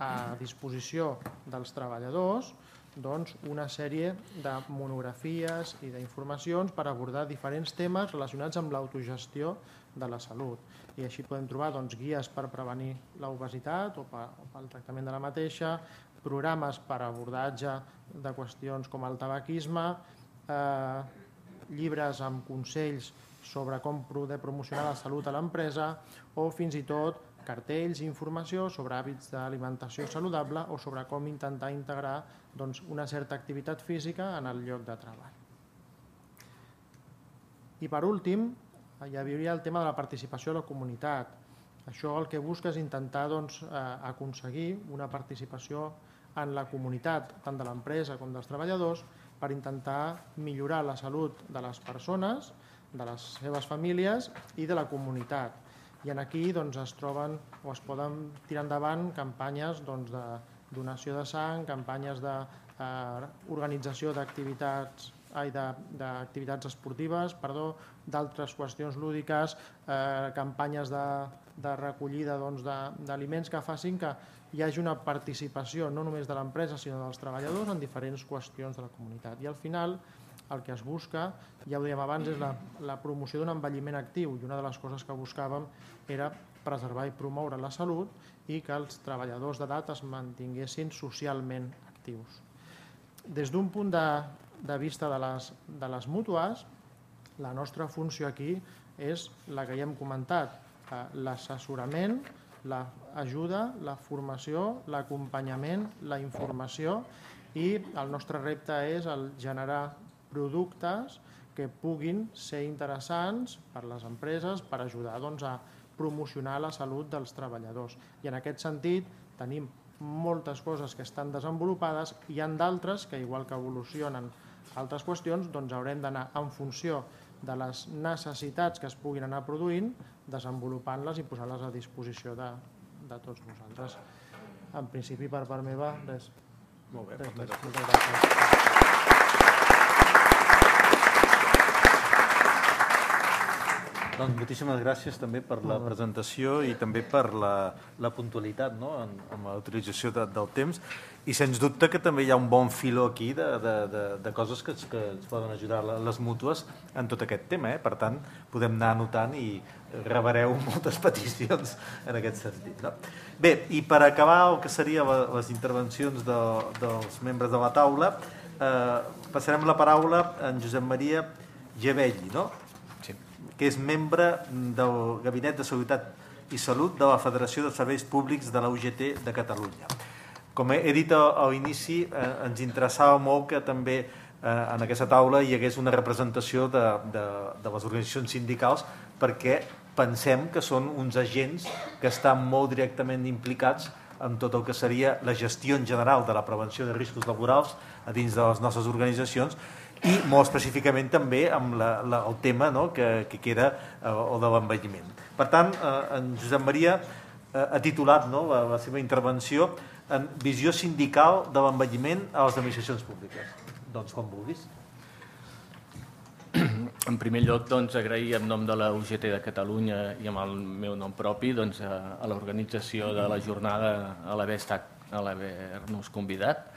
S5: a disposició dels treballadors doncs, una sèrie de monografies i d'informacions per abordar diferents temes relacionats amb l'autogestió de la salut. I així podem trobar doncs, guies per prevenir l'obesitat o pel tractament de la mateixa, programes per abordatge de qüestions com el tabaquisme, eh, llibres amb consells sobre com poder promocionar la salut a l'empresa o fins i tot cartells i informació sobre hàbits d'alimentació saludable o sobre com intentar integrar doncs, una certa activitat física en el lloc de treball. I per últim, hi hauria el tema de la participació de la comunitat. Això el que busca és intentar doncs, aconseguir una participació en la comunitat, tant de l'empresa com dels treballadors, per intentar millorar la salut de les persones, de les seves famílies i de la comunitat. I aquí doncs, es troben o es poden tirar endavant campanyes doncs, de donació de sang, campanyes d'organització eh, d'activitats d'activitats esportives, perdó, d'altres qüestions lúdiques, eh, campanyes de, de recollida doncs, d'aliments que facin que hi hagi una participació no només de l'empresa sinó dels treballadors en diferents qüestions de la comunitat. I al final el que es busca, ja ho dèiem abans, és la, la promoció d'un envelliment actiu i una de les coses que buscàvem era preservar i promoure la salut i que els treballadors d'edat es mantinguessin socialment actius. Des d'un punt de, de vista de les, de les mútues, La nostra funció aquí és la que ja hem comentat, l'assessorament, l'ajuda, la formació, l'acompanyament, la informació, i el nostre repte és el generar productes que puguin ser interessants per les empreses per ajudar a promocionar la salut dels treballadors. I en aquest sentit tenim moltes coses que estan desenvolupades, i hi ha d'altres que, igual que evolucionen altres qüestions, doncs haurem d'anar en funció de les necessitats que es puguin anar produint, desenvolupant-les i posant-les a disposició de, de tots vosaltres. En principi, per part meva, res.
S3: Molt bé,
S5: res,
S3: moltes
S5: res,
S3: gràcies.
S5: moltes gràcies.
S1: Doncs moltíssimes gràcies també per la presentació i també per la, la puntualitat, no? en, en la utilització de, del temps, i sens dubte que també hi ha un bon filó aquí de, de, de, de coses que, que ens poden ajudar les mútues en tot aquest tema. Eh? Per tant, podem anar anotant i rebareu moltes peticions en aquest sentit. No? Bé, i per acabar el que serien les intervencions de, dels membres de la taula, eh, passarem la paraula a en Josep Maria Gevelli, no? que és membre del Gabinet de Seguretat i Salut de la Federació de Serveis Públics de la U G T de Catalunya. Com he dit a l'inici, eh, ens interessava molt que també eh, en aquesta taula hi hagués una representació de, de, de les organitzacions sindicals, perquè pensem que són uns agents que estan molt directament implicats en tot el que seria la gestió en general de la prevenció de riscos laborals a dins de les nostres organitzacions, i molt específicament també amb la, la, el tema no, que, que queda eh, o de l'envelliment. Per tant, eh, en Josep Maria eh, ha titulat no, la, la seva intervenció en visió sindical de l'envelliment a les administracions públiques. Doncs com vulguis.
S6: En primer lloc, doncs, agrair en nom de la U G T de Catalunya i amb el meu nom propi doncs, a, a l'organització de la jornada a l'haver-nos convidat,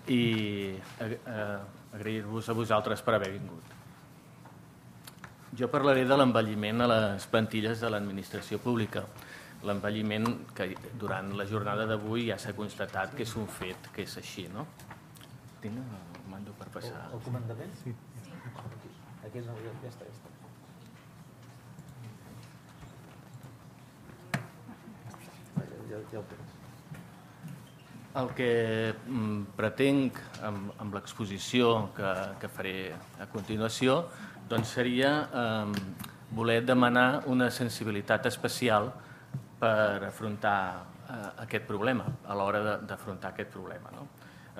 S6: i agrair-vos a vosaltres per haver vingut. Jo parlaré de l'envelliment a les plantilles de l'administració pública. L'envelliment que durant la jornada d'avui ja s'ha constatat que és un fet, que és així, no? Tinc el mando per passar.
S1: El comandament? Sí. Aquí no, ja està, ja està. Ja, ja ho tens.
S6: El que pretenc amb, amb l'exposició que, que faré a continuació doncs seria eh, voler demanar una sensibilitat especial per afrontar eh, aquest problema, a l'hora d'afrontar aquest problema. No?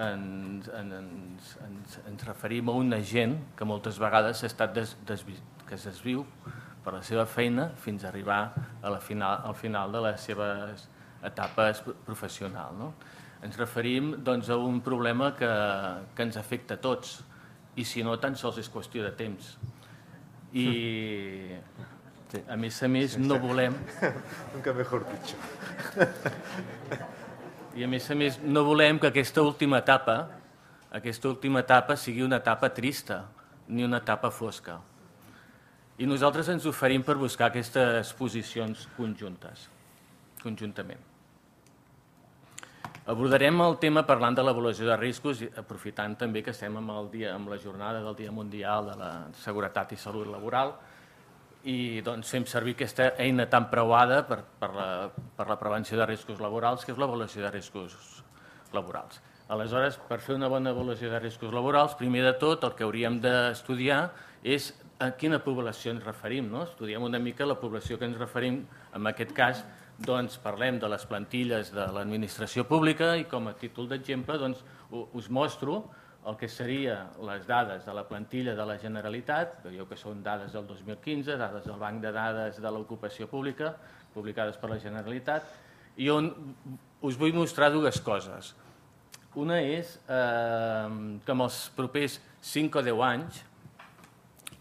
S6: Ens, ens, ens, ens referim a una gent que moltes vegades ha estat des, desvi, que es desviu per la seva feina fins a arribar a la final, al final de les seves etapes professionals. No? Ens referim doncs, a un problema que, que ens afecta a tots, i si no, tan sols és qüestió de temps. I, a més a més, no volem...
S3: Nunca mejor dicho.
S6: I a més a més, no volem que aquesta última etapa, aquesta última etapa sigui una etapa trista, ni una etapa fosca. I nosaltres ens oferim per buscar aquestes posicions conjuntes, conjuntament. Abordarem el tema parlant de l'avaluació de riscos, aprofitant també que estem amb, el dia, amb la jornada del Dia Mundial de la Seguretat i Salut Laboral, i doncs, fem servir aquesta eina tan preuada per, per, la, per la prevenció de riscos laborals, que és l'avaluació de riscos laborals. Aleshores, per fer una bona avaluació de riscos laborals, primer de tot el que hauríem d'estudiar és a quina població ens referim. No? Estudiem una mica la població que ens referim, en aquest cas, doncs parlem de les plantilles de l'administració pública i com a títol d'exemple doncs, us mostro el que serien les dades de la plantilla de la Generalitat, veieu que són dades del dos mil quinze, dades del Banc de Dades de l'Ocupació Pública, publicades per la Generalitat, i on us vull mostrar dues coses. Una és eh, que en els propers cinc o deu anys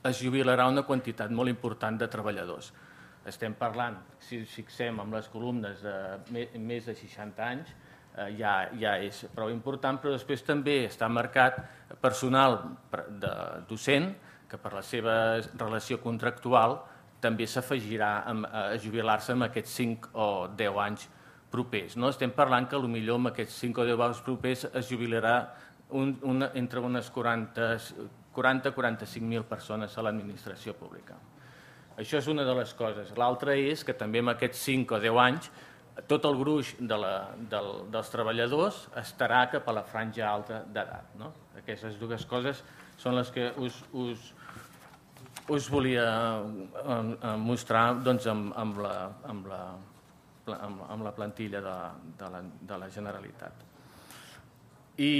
S6: es jubilarà una quantitat molt important de treballadors. Estem parlant, si ens fixem en les columnes de més de seixanta anys, eh, ja, ja és prou important, però després també està marcat personal de docent, que per la seva relació contractual també s'afegirà a jubilar-se en aquests cinc o deu anys propers. No? Estem parlant que potser en aquests cinc o deu anys propers es jubilarà un, una, entre unes quaranta, quaranta a quaranta-cinc mil persones a l'administració pública. Això és una de les coses. L'altra és que també en aquests cinc o deu anys tot el gruix de la, del, dels treballadors estarà cap a la franja alta d'edat. No? Aquestes dues coses són les que us, us, us volia mostrar doncs, amb, amb, la, amb, la, amb, amb la plantilla de, de, la, de la Generalitat. I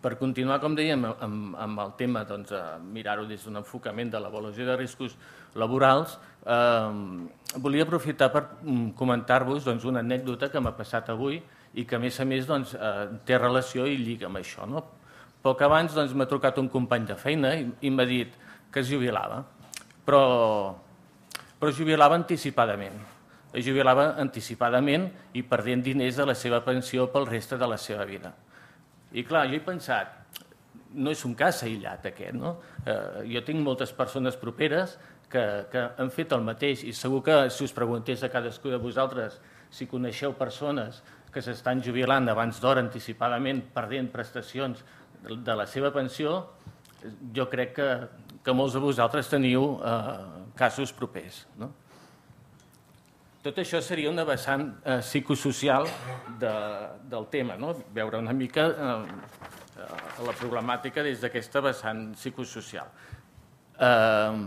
S6: per continuar, com dèiem, amb, amb el tema, doncs, mirar-ho des d'un enfocament de l'avaluació de riscos laborals, eh, volia aprofitar per comentar-vos doncs, una anècdota que m'ha passat avui i que, a més a més, doncs, eh, té relació i lliga amb això. No? Poc abans doncs, m'ha trucat un company de feina i, i m'ha dit que es jubilava, però, però es jubilava anticipadament. Es jubilava anticipadament i perdent diners de la seva pensió pel reste de la seva vida. I clar, jo he pensat, no és un cas aïllat aquest, no? Eh, jo tinc moltes persones properes que, que han fet el mateix i segur que si us preguntés a cadascú de vosaltres si coneixeu persones que s'estan jubilant abans d'hora anticipadament perdent prestacions de la seva pensió, jo crec que, que molts de vosaltres teniu eh, casos propers, no? Tot això seria una vessant eh, psicosocial de, del tema, no? Veure una mica eh, la problemàtica des d'aquesta vessant psicosocial. Eh,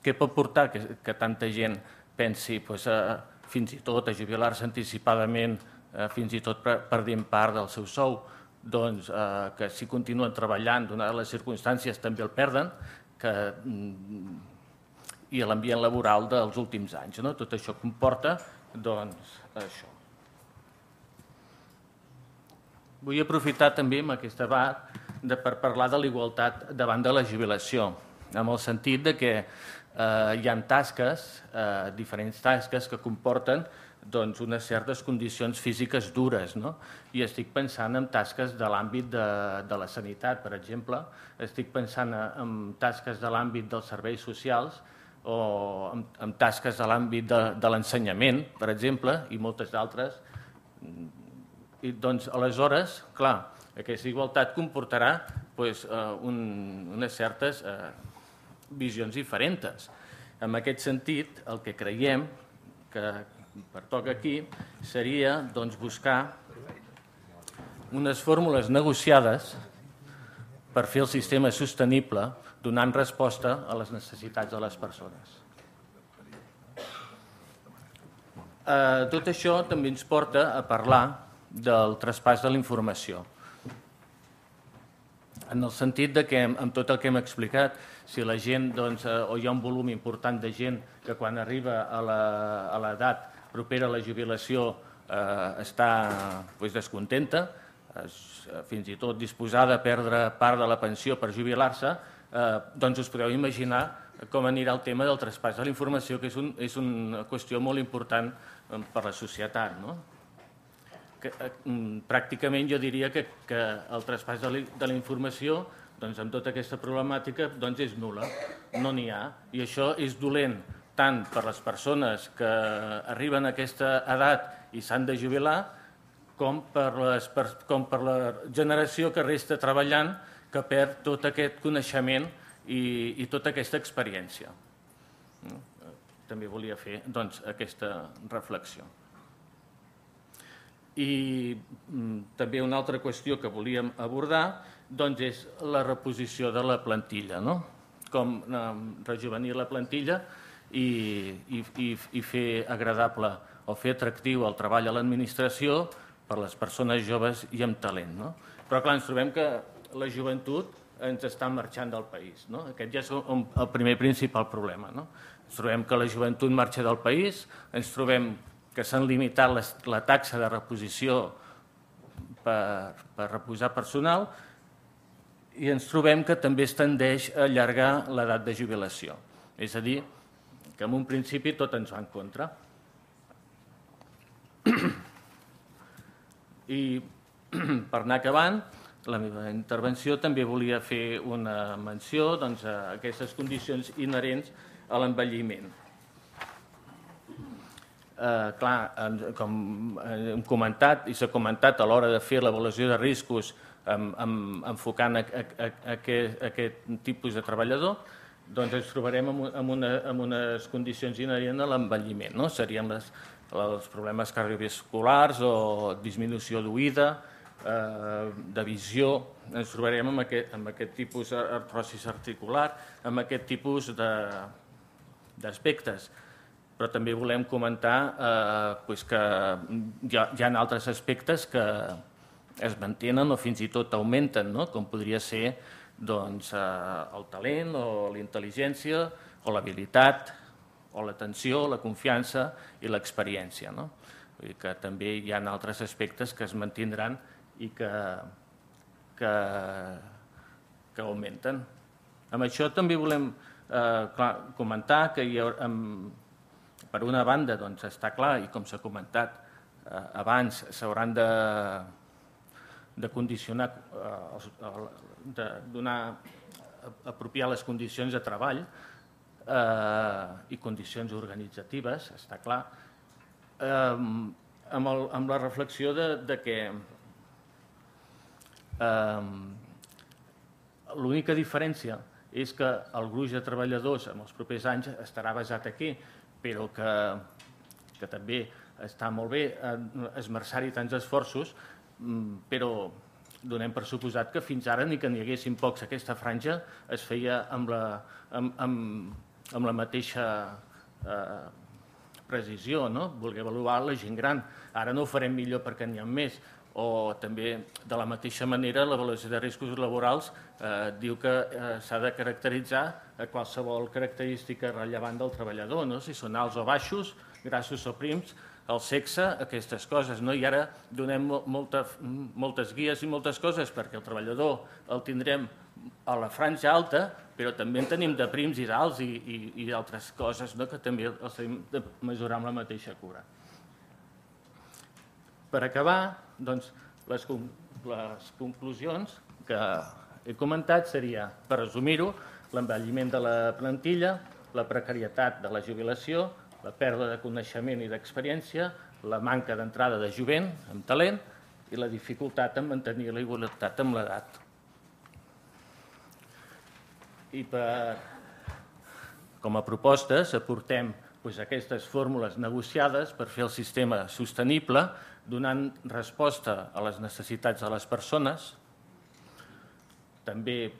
S6: què pot portar que, que tanta gent pensi pues, eh, fins i tot a jubilar-se anticipadament, eh, fins i tot perdent part del seu sou, doncs eh, que si continuen treballant, donades les circumstàncies, també el perden, que... Mm, i l'ambient laboral dels últims anys. No? Tot això comporta, doncs, això. Vull aprofitar també amb aquest debat de, per parlar de la igualtat davant de la jubilació, en el sentit de que eh, hi ha tasques, eh, diferents tasques que comporten doncs, unes certes condicions físiques dures. No? I estic pensant en tasques de l'àmbit de, de la sanitat, per exemple, estic pensant en tasques de l'àmbit dels serveis socials, o amb, amb tasques a l'àmbit de, de l'ensenyament, per exemple, i moltes d'altres. I doncs, aleshores, clar, aquesta igualtat comportarà pues, eh, un, unes certes eh, visions diferents. En aquest sentit, el que creiem que pertoca aquí seria doncs, buscar unes fórmules negociades per fer el sistema sostenible donant resposta a les necessitats de les persones. Eh, tot això també ens porta a parlar del traspàs de la informació. En el sentit de que, amb tot el que hem explicat, si la gent, doncs, eh, o hi ha un volum important de gent que quan arriba a l'edat propera a la jubilació eh, està pues, descontenta, es, fins i tot disposada a perdre part de la pensió per jubilar-se, Eh, doncs us podeu imaginar com anirà el tema del traspàs de la informació, que és, un, és una qüestió molt important per la societat. No? Que, eh, pràcticament jo diria que, que el traspàs de la, de la informació doncs, amb tota aquesta problemàtica doncs, és nul·la, no n'hi ha. I això és dolent tant per les persones que arriben a aquesta edat i s'han de jubilar, com per, les, per, com per la generació que resta treballant, que perd tot aquest coneixement i, i tota aquesta experiència. També volia fer doncs, aquesta reflexió. I mm, també una altra qüestió que volíem abordar doncs, és la reposició de la plantilla. No? Com eh, rejuvenir la plantilla i, i, i, i fer agradable o fer atractiu el treball a l'administració per les persones joves i amb talent. No? Però clar, ens trobem que la joventut ens està marxant del país. No? Aquest ja és el primer principal problema. No? Ens trobem que la joventut marxa del país, ens trobem que s'han limitat les, la taxa de reposició per, per reposar personal i ens trobem que també es tendeix a allargar l'edat de jubilació. És a dir, que en un principi tot ens va en contra. I per anar acabant, la meva intervenció també volia fer una menció doncs, a aquestes condicions inherents a l'envelliment. Eh, clar, com hem comentat i s'ha comentat a l'hora de fer l'avaluació de riscos enfocant aquest tipus de treballador, doncs ens trobarem en unes condicions inherents a l'envelliment. Serien els problemes cardiovasculars o disminució d'oïda, de visió. Ens trobarem amb aquest tipus d'artrosi articular, amb aquest tipus d'aspectes. Però també volem comentar que hi ha altres aspectes que es mantenen o fins i tot augmenten, com podria ser el talent o la intel·ligència o l'habilitat o l'atenció, la confiança i l'experiència. Vull dir que també hi ha altres aspectes que es mantindran i que augmenten. Amb això també volem comentar que per una banda està clar, i com s'ha comentat abans, s'hauran de condicionar, de donar, apropiar les condicions de treball i condicions organitzatives, està clar, amb la reflexió que l'única diferència és que el gruix de treballadors en els propers anys estarà basat aquí, però que també està molt bé esmerçar-hi tants esforços, però donem per suposat que fins ara ni que n'hi haguessin pocs aquesta franja es feia amb la mateixa precisió, voler avaluar la gent gran. Ara no ho farem millor perquè n'hi ha més, o també de la mateixa manera l'avaluació de riscos laborals diu que s'ha de caracteritzar qualsevol característica rellevant del treballador, si són alts o baixos, grassos o prims, el sexe, aquestes coses. I ara donem moltes guies i moltes coses perquè el treballador el tindrem a la franja alta, però també en tenim de prims i d'alts i d'altres coses que també els hem de mesurar amb la mateixa cura. Per acabar, les conclusions que he comentat seria, per resumir-ho, l'envelliment de la plantilla, la precarietat de la jubilació, la pèrdua de coneixement i d'experiència, la manca d'entrada de jovent amb talent i la dificultat en mantenir la igualtat amb l'edat. I com a propostes aportem aquestes fórmules negociades per fer el sistema sostenible, donant resposta a les necessitats de les persones, també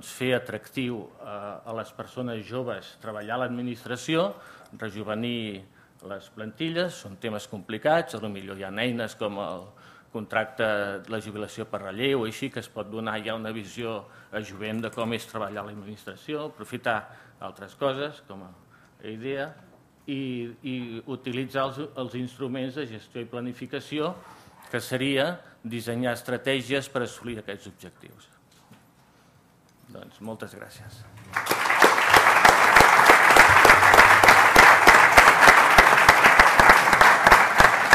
S6: fer atractiu a les persones joves treballar a l'administració, rejuvenir les plantilles, són temes complicats, potser hi ha eines com el contracte de la jubilació per relleu, així que es pot donar ja una visió a jovent de com és treballar a l'administració, aprofitar altres coses com a idea i utilitzar els instruments de gestió i planificació, que seria dissenyar estratègies per assolir aquests objectius. Doncs moltes gràcies.